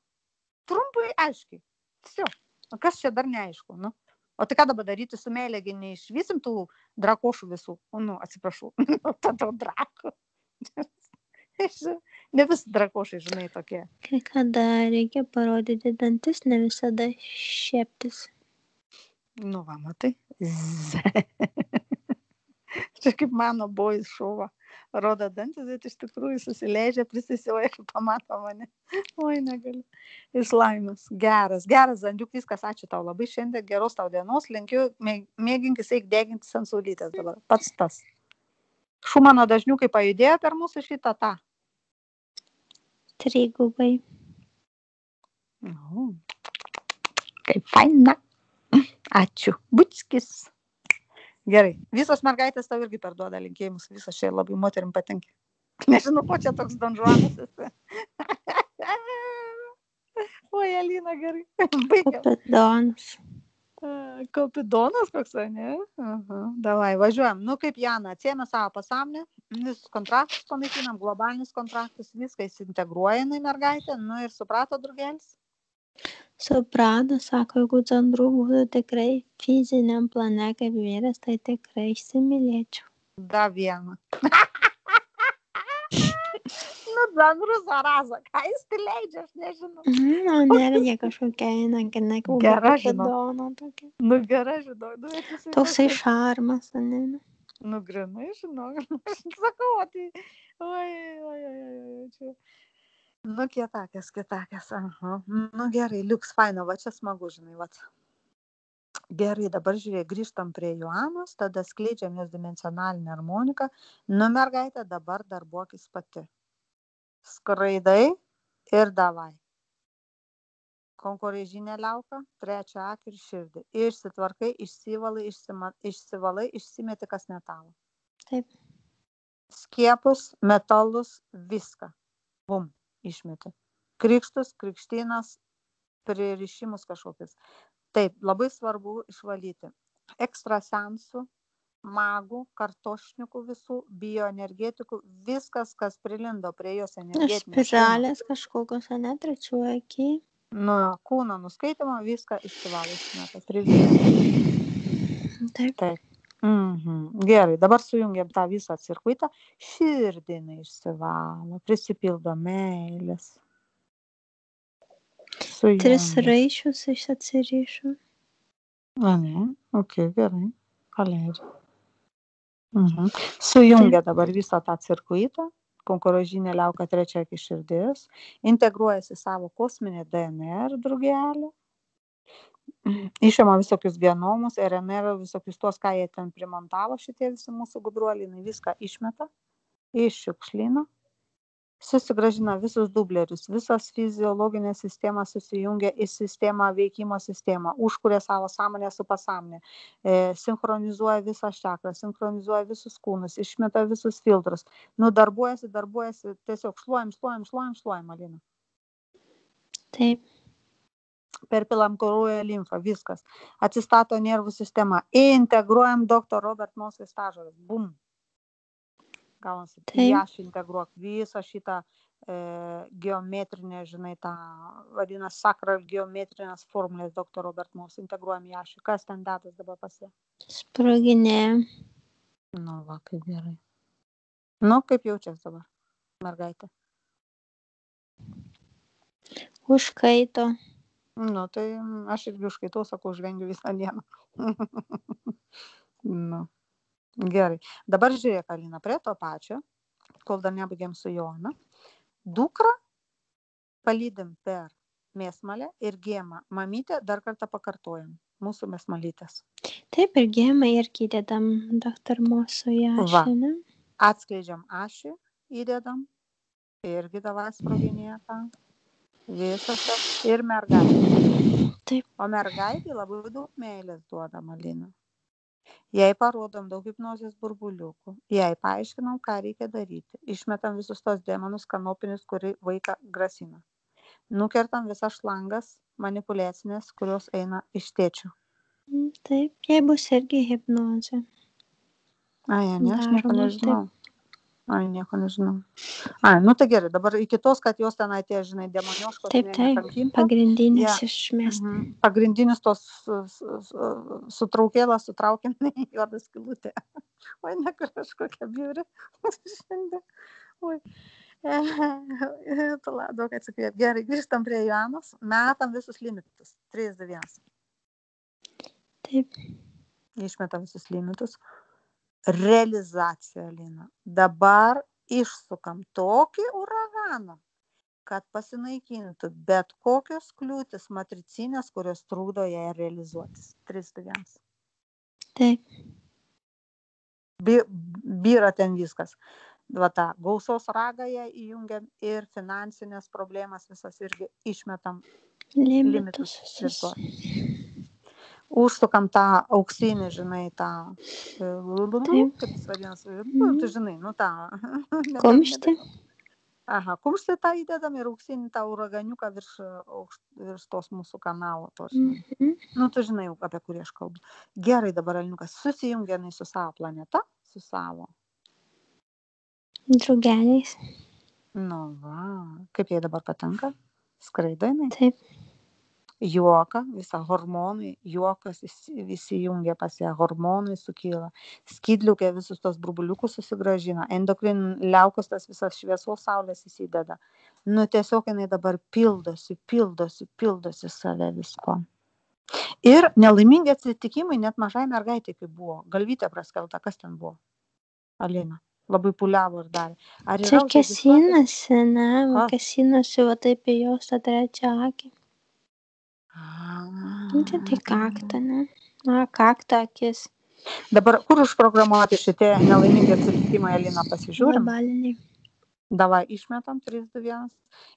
trumpai aiškiai. Tiesiog. O kas čia dar neaišku? Nu? O tai ką dabar daryti su meilėgi neišvysim tų drakošų visų? Nu, atsiprašau. Tada drako. Ne visi drakošai, žinai, tokie. Kai kada reikia parodyti dantis, ne visada šieptis. Nu, va, matai. Čia kaip mano boys šuva. Rodo dantis, bet iš tikrųjų susileidžia, prisisioja ir pamato mane. Oi, negaliu. Iš laimės. Geras, Zandiuk, viskas, ačiū tau labai šiandien, geros tau dienos, linkiu, mėginkis eik degintis ant saulytės dabar. Pats tas. Šumano dažniukai pajudėjo per mūsų šitą tą. Trigubai. Kaip faina. Ačiū. Bučkis. Gerai. Visos mergaitės tau irgi perduoda linkėjimus. Visos čia labai moterim patinka. Nežinau, ko čia toks donžuanas esi. Oi, Alina, gerai. Kopidonas. Kopidonas koks, ne? Davai, važiuojam. Nu, kaip Jana, atsiėmė savo pasąmonę, visus kontraktus panaikinam, globalinis kontraktus, viską įsintegruoja į mergaitę, nu ir suprato drugelis. Suprato, sako, jeigu Zanru būtų tikrai fiziniam plane kaip vyras, tai tikrai įsimylėčiau. Da vieną. Nu, Zanru zaraza, ką jis tai leidžia, aš nežinau. Nu, nergia kažkokia eina, ne Gera, Kopidono tokia. Nu, gera, žinau. Toksai šarmas, ne? Nu, grinai, žinau. Aš sakau, tai... Oi, čia... Nu, kietakės. Aha. Nu, gerai, liuks faino, va čia smagu, žinai, va. Gerai, dabar žiūrėk, grįžtam prie Joanos, tada skleidžiam jos dimensionalinę harmoniką. Nu, mergaitė, dabar darbuokis pati. Skraidai ir davai. Konkurežinė liauka, trečią akį ir širdį. Išsitvarkai, išsivalai, išsimeti, kas ne tavo. Taip. Skiepus, metalus, viską. Bum, išmeti. Krikštus, krikštynas, pririšimus kažkokius. Taip, labai svarbu išvalyti. Ekstrasensų, magų, kartošnikų visų, bioenergetikų, viskas, kas prilindo prie jos energetinės. Spiralės kažkokios, ne, trečiuoju akiai. Nu, kūno nuskaitimo, viską išsivalo, išmeta. Taip. Gerai, dabar sujungiam tą visą cirkuitą, širdinai išsivalo, prisipildo meilės. Sujungiam. 3 raiščius atsirišo. Ne, ok, gerai, paleidžiu. Sujungia dabar visą tą cirkuitą, konkurežinė liauka trečia iki širdis, integruojasi savo kosminį DNR drugelį, išima visokius genomus, RNR, visokius tuos, ką jie ten primontavo, šitie visi mūsų gudruoliai, viską išmeta, iššiukšlina, susigrąžina visus dublerius, visas fiziologinė sistema susijungia į sistemą, veikimo sistemą, užkuria savo sąmonę su pasąmonė, sinchronizuoja visą čakrą, sinchronizuoja visus kūnus, išmeta visus filtrus, darbuojasi, tiesiog šluojam, Alina. Taip. Perpilam kraujo limfą, viskas. Atsistato nervų sistema. Integruojam Dr. Robert Moskvai stažoras. Bum. Gaunasi. Aš integruok visą šitą geometrinę, žinai, tą vadina sakral geometrinės formulės Dr. Robert Moskvai. Integruojam į ašį. Kas ten datas dabar pasie? Sproginė. Nu, va, kaip gerai. Nu, kaip jaučias dabar, mergaitė? Užkaito. Nu, tai aš irgi užkaitau, sakau, žvengiu visą dieną. Nu, gerai. Dabar žiūrėk, Alina, prie to pačio, kol dar nebaigėm su Joana. Dukrą palydim per mėsmalė ir gėma. Mamytė, dar kartą pakartojam. Mūsų mėsmalytės. Taip, ir gėmą irgi įdedam daktar mūsų į Va. ašį, ne? Atskleidžiam ašį, įdedam. Irgi davai sproginėje tą. Visas tas. Ir mergaitė. Taip. O mergaitė labai daug meilės duoda, Alina. Jai parodom daug hipnozės burbuliukų. Jai paaiškinam, ką reikia daryti. Išmetam visus tos demonus kanopinius, kuri vaiką grasina. Nukertam visas šlangas manipuliacinės, kurios eina iš tėčių. Taip, jai bus irgi hipnozė. Ai, ne, aš nieko Daroma, nežinau. Ai, nieko nežinau. Ai, nu tai gerai, dabar iki tos, kad jos ten atėjo, žinai, demonioškos, Taip, nekankintų. pagrindinės Ja. išmesti. Pagrindinius tos sutraukėlą sutraukiam į juodą skylutę. Oi, ne kažkokia biuri. Šiandien. Oi. Daug atsikvėp. Gerai, grįžtam prie Joanos. Metam visus limitus. 3, 2, 1. Taip. Išmetam visus limitus. Realizacija, Lina. Dabar išsukam tokį uraganą, kad pasinaikintų bet kokios kliūtis matricinės, kurios trukdo ją realizuotis. 3, 2, 1. Taip. Byra ten viskas. Va tą gausos ragą ją įjungiam ir finansinės problemas visas irgi išmetam limitus. Užsukam tą auksinį, žinai, tą, kaip jis vadinasi, tu žinai, nu tą. Kumštį. Aha, kumštį tą įdedam ir auksinį tą uraganiuką virš tos mūsų kanalo. Nu, tu žinai, apie kurį aš kalbu. Gerai, dabar Alinukas susijungia su savo planeta, su savo. Drugeliais. Nu, va, kaip jai dabar patinka? Skraido jinai? Taip. Juoka, visą hormonai, juokas visi jungia pas ją, hormonai sukyla, skydliukė visus tos burbuliukus susigražina, endokrin liaukos tas visas šviesos saulės įsideda. Nu, tiesiog jinai dabar pildosi save visko. Ir nelaimingi atsitikimai net mažai mergaitė, kaip buvo. Galvytė praskelta, kas ten buvo? Alina. Labai puliavo ir darė. Čia kėsinasi, ne? Kėsinasi, va taip į jos tą trečią akį. Tai kaktą, ne? Kaktą akis. Dabar kur užprogramuoti šitie nelaimingi atsitikimai, Alina, pasižiūrim? Globaliniai. Davai išmetam 3, 2, 1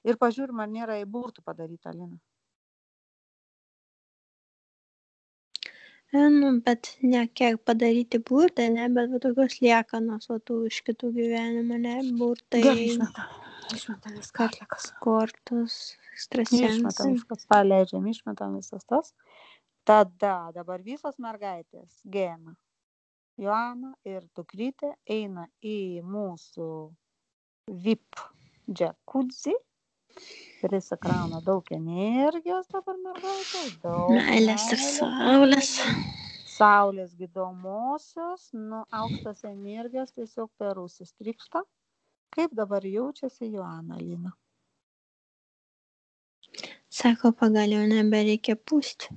ir pažiūrim, ar nėra į burtų padaryta, Alina. Nu, bet ne kiek padaryti burtai, ne, bet va tokios liekanos, va tų iš kitų gyvenimų, ne, burtai. Gerai, išmetam viską atlikas. Kortos, ekstrasensai. Išmetam viskas, paleidžiam, išmetam visas tas. Tada dabar visos mergaitės, Gėma, Joana ir dukrytė eina į mūsų VIP džekudzi. Prisikrauna daug energijos dabar mergaitės, daug meilės ir saulės. Saulės gydomosios, aukštos energijos tiesiog per ausis trykšta. Kaip dabar jaučiasi Joana, Lina? Sako, pagaliau nebereikia pūsti.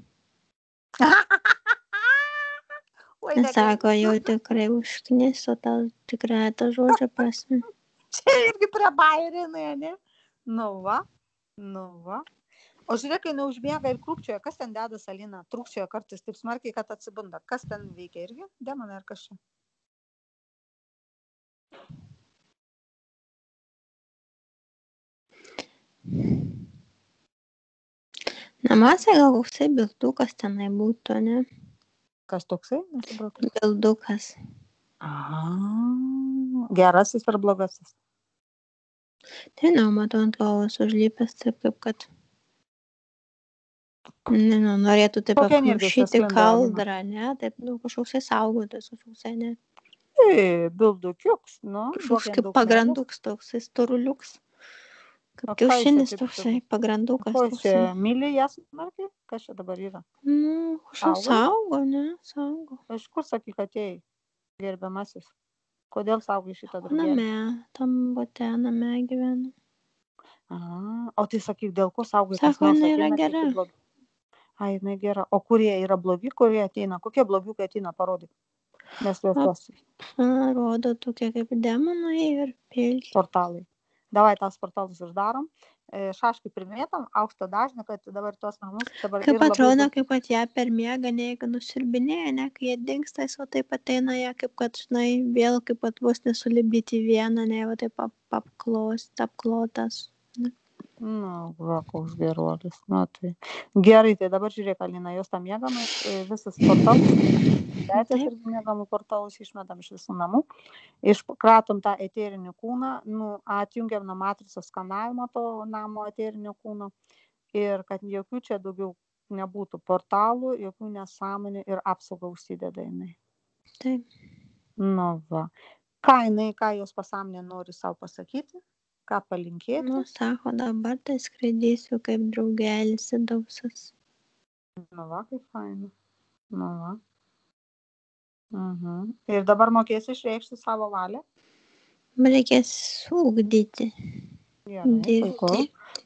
Sako, jau tikrai užkniso tau tikrai tą žodžio prasme. Čia irgi prie bairinai, ne? Nu va. O žiūrėk, kai neužbėga ir krūpčioja, kas ten dedas, Alina? Trūkčioja kartais taip smarkiai, kad atsibunda. Kas ten veikia irgi? Demonai ar kas čia? Namuose gal koksai bildukas tenai būtų, ne? Kas toksai? Bildukas. Aha. Gerasis ar blogasis? Tai matau ant galvos užlypęs, taip kaip kad norėtų taip apmušyti kaldrą, ne? Taip, kažkoksai saugotas, kažkoksai, ne? Bildukiuks, Kažkoks kaip pagranduks toksai, storuliuks. Kaip kiaušinis toksai, pagrandukas toksai. Ko čia, myli jas smarkiai? Kas čia dabar yra? Kažkoks saugo, ne? Saugo. Iš kur sakyk atėjai, gerbiamasis? Kodėl saugai šitą drugelį? Name, tam bote, name gyvena. O tai sakyk, dėl ko saugai? Sako, jinai yra gera. Ai, jinai gera. O kurie yra blogi, kurie ateina? Kokie blogiukai ateina, parodyk. Mes juos rodo tokie kaip demonai ir pilki. Portalai. Davai tas portalus uždarom šaškai primėtam, aukšto dažnio, kad dabar tos namus dabar Kaip ir labai atrodo, daug. kaip kad ją per miegą, jeigu nusirbinėja, ne, kai jie dingsta, jis va taip ateina ją, kaip kad, žinai, vėl kaip kad vos nesulibdyti vieną, ne, va taip apklotas. Ne. Nu, va, koks geruolis. Nu, tai gerai, tai dabar žiūrėk, Alina, jos tą miegamą, visas portalus, betės Taip. ir miegamų portalus išmetam iš visų namų, iškratom tą eterinį kūną, nu, atjungiam nuo matricos skanavimo to namo eterinio kūno ir kad jokių čia daugiau nebūtų portalų, jokių nesąmonių ir apsaugą užsideda jinai. Taip. Nu, va. Ką jos pasąmonė nori savo pasakyti, ką palinkėti. Nu, sako, dabar tai skraidysiu kaip draugelis įdausas. Nu, va, kaip faina. Nu, va. Ir dabar mokėsi išreikšti savo valią? Reikės ugdyti. Gerai, puiku.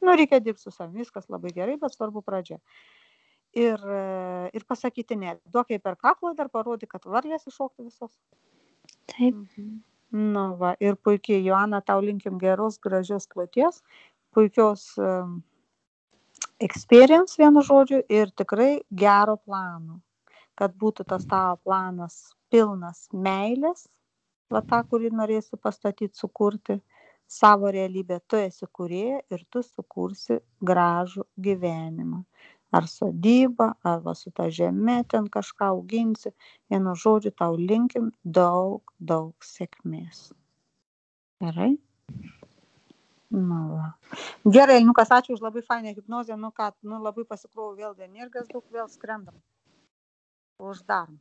Nu, reikia dirbti su savimi, viskas labai gerai, bet svarbu pradžia. Ir pasakyti ne. Duok jai per kaklą, dar parodyk, kad varlės iššoktų visos. Taip. Nu, va, ir puikiai, Joana, tau linkim geros, gražios kloties, puikios experience, vienu žodžiu, ir tikrai gero plano. Kad būtų tas tavo planas pilnas meilės, va tą, kurį norėsi pastatyti, sukurti savo realybę. Tu esi kūrėja ir tu sukursi gražų gyvenimą. Ar sodybą, arba su ta žeme ten kažką auginsi. Vienu žodžiu, tau linkim daug, daug sėkmės. Gerai? Nu, va. Gerai, Nukas, ačiū už labai fainą hipnozę. Nu ką, labai pasikrovau vėl energijos daug, vėl skrendam. Uždarom.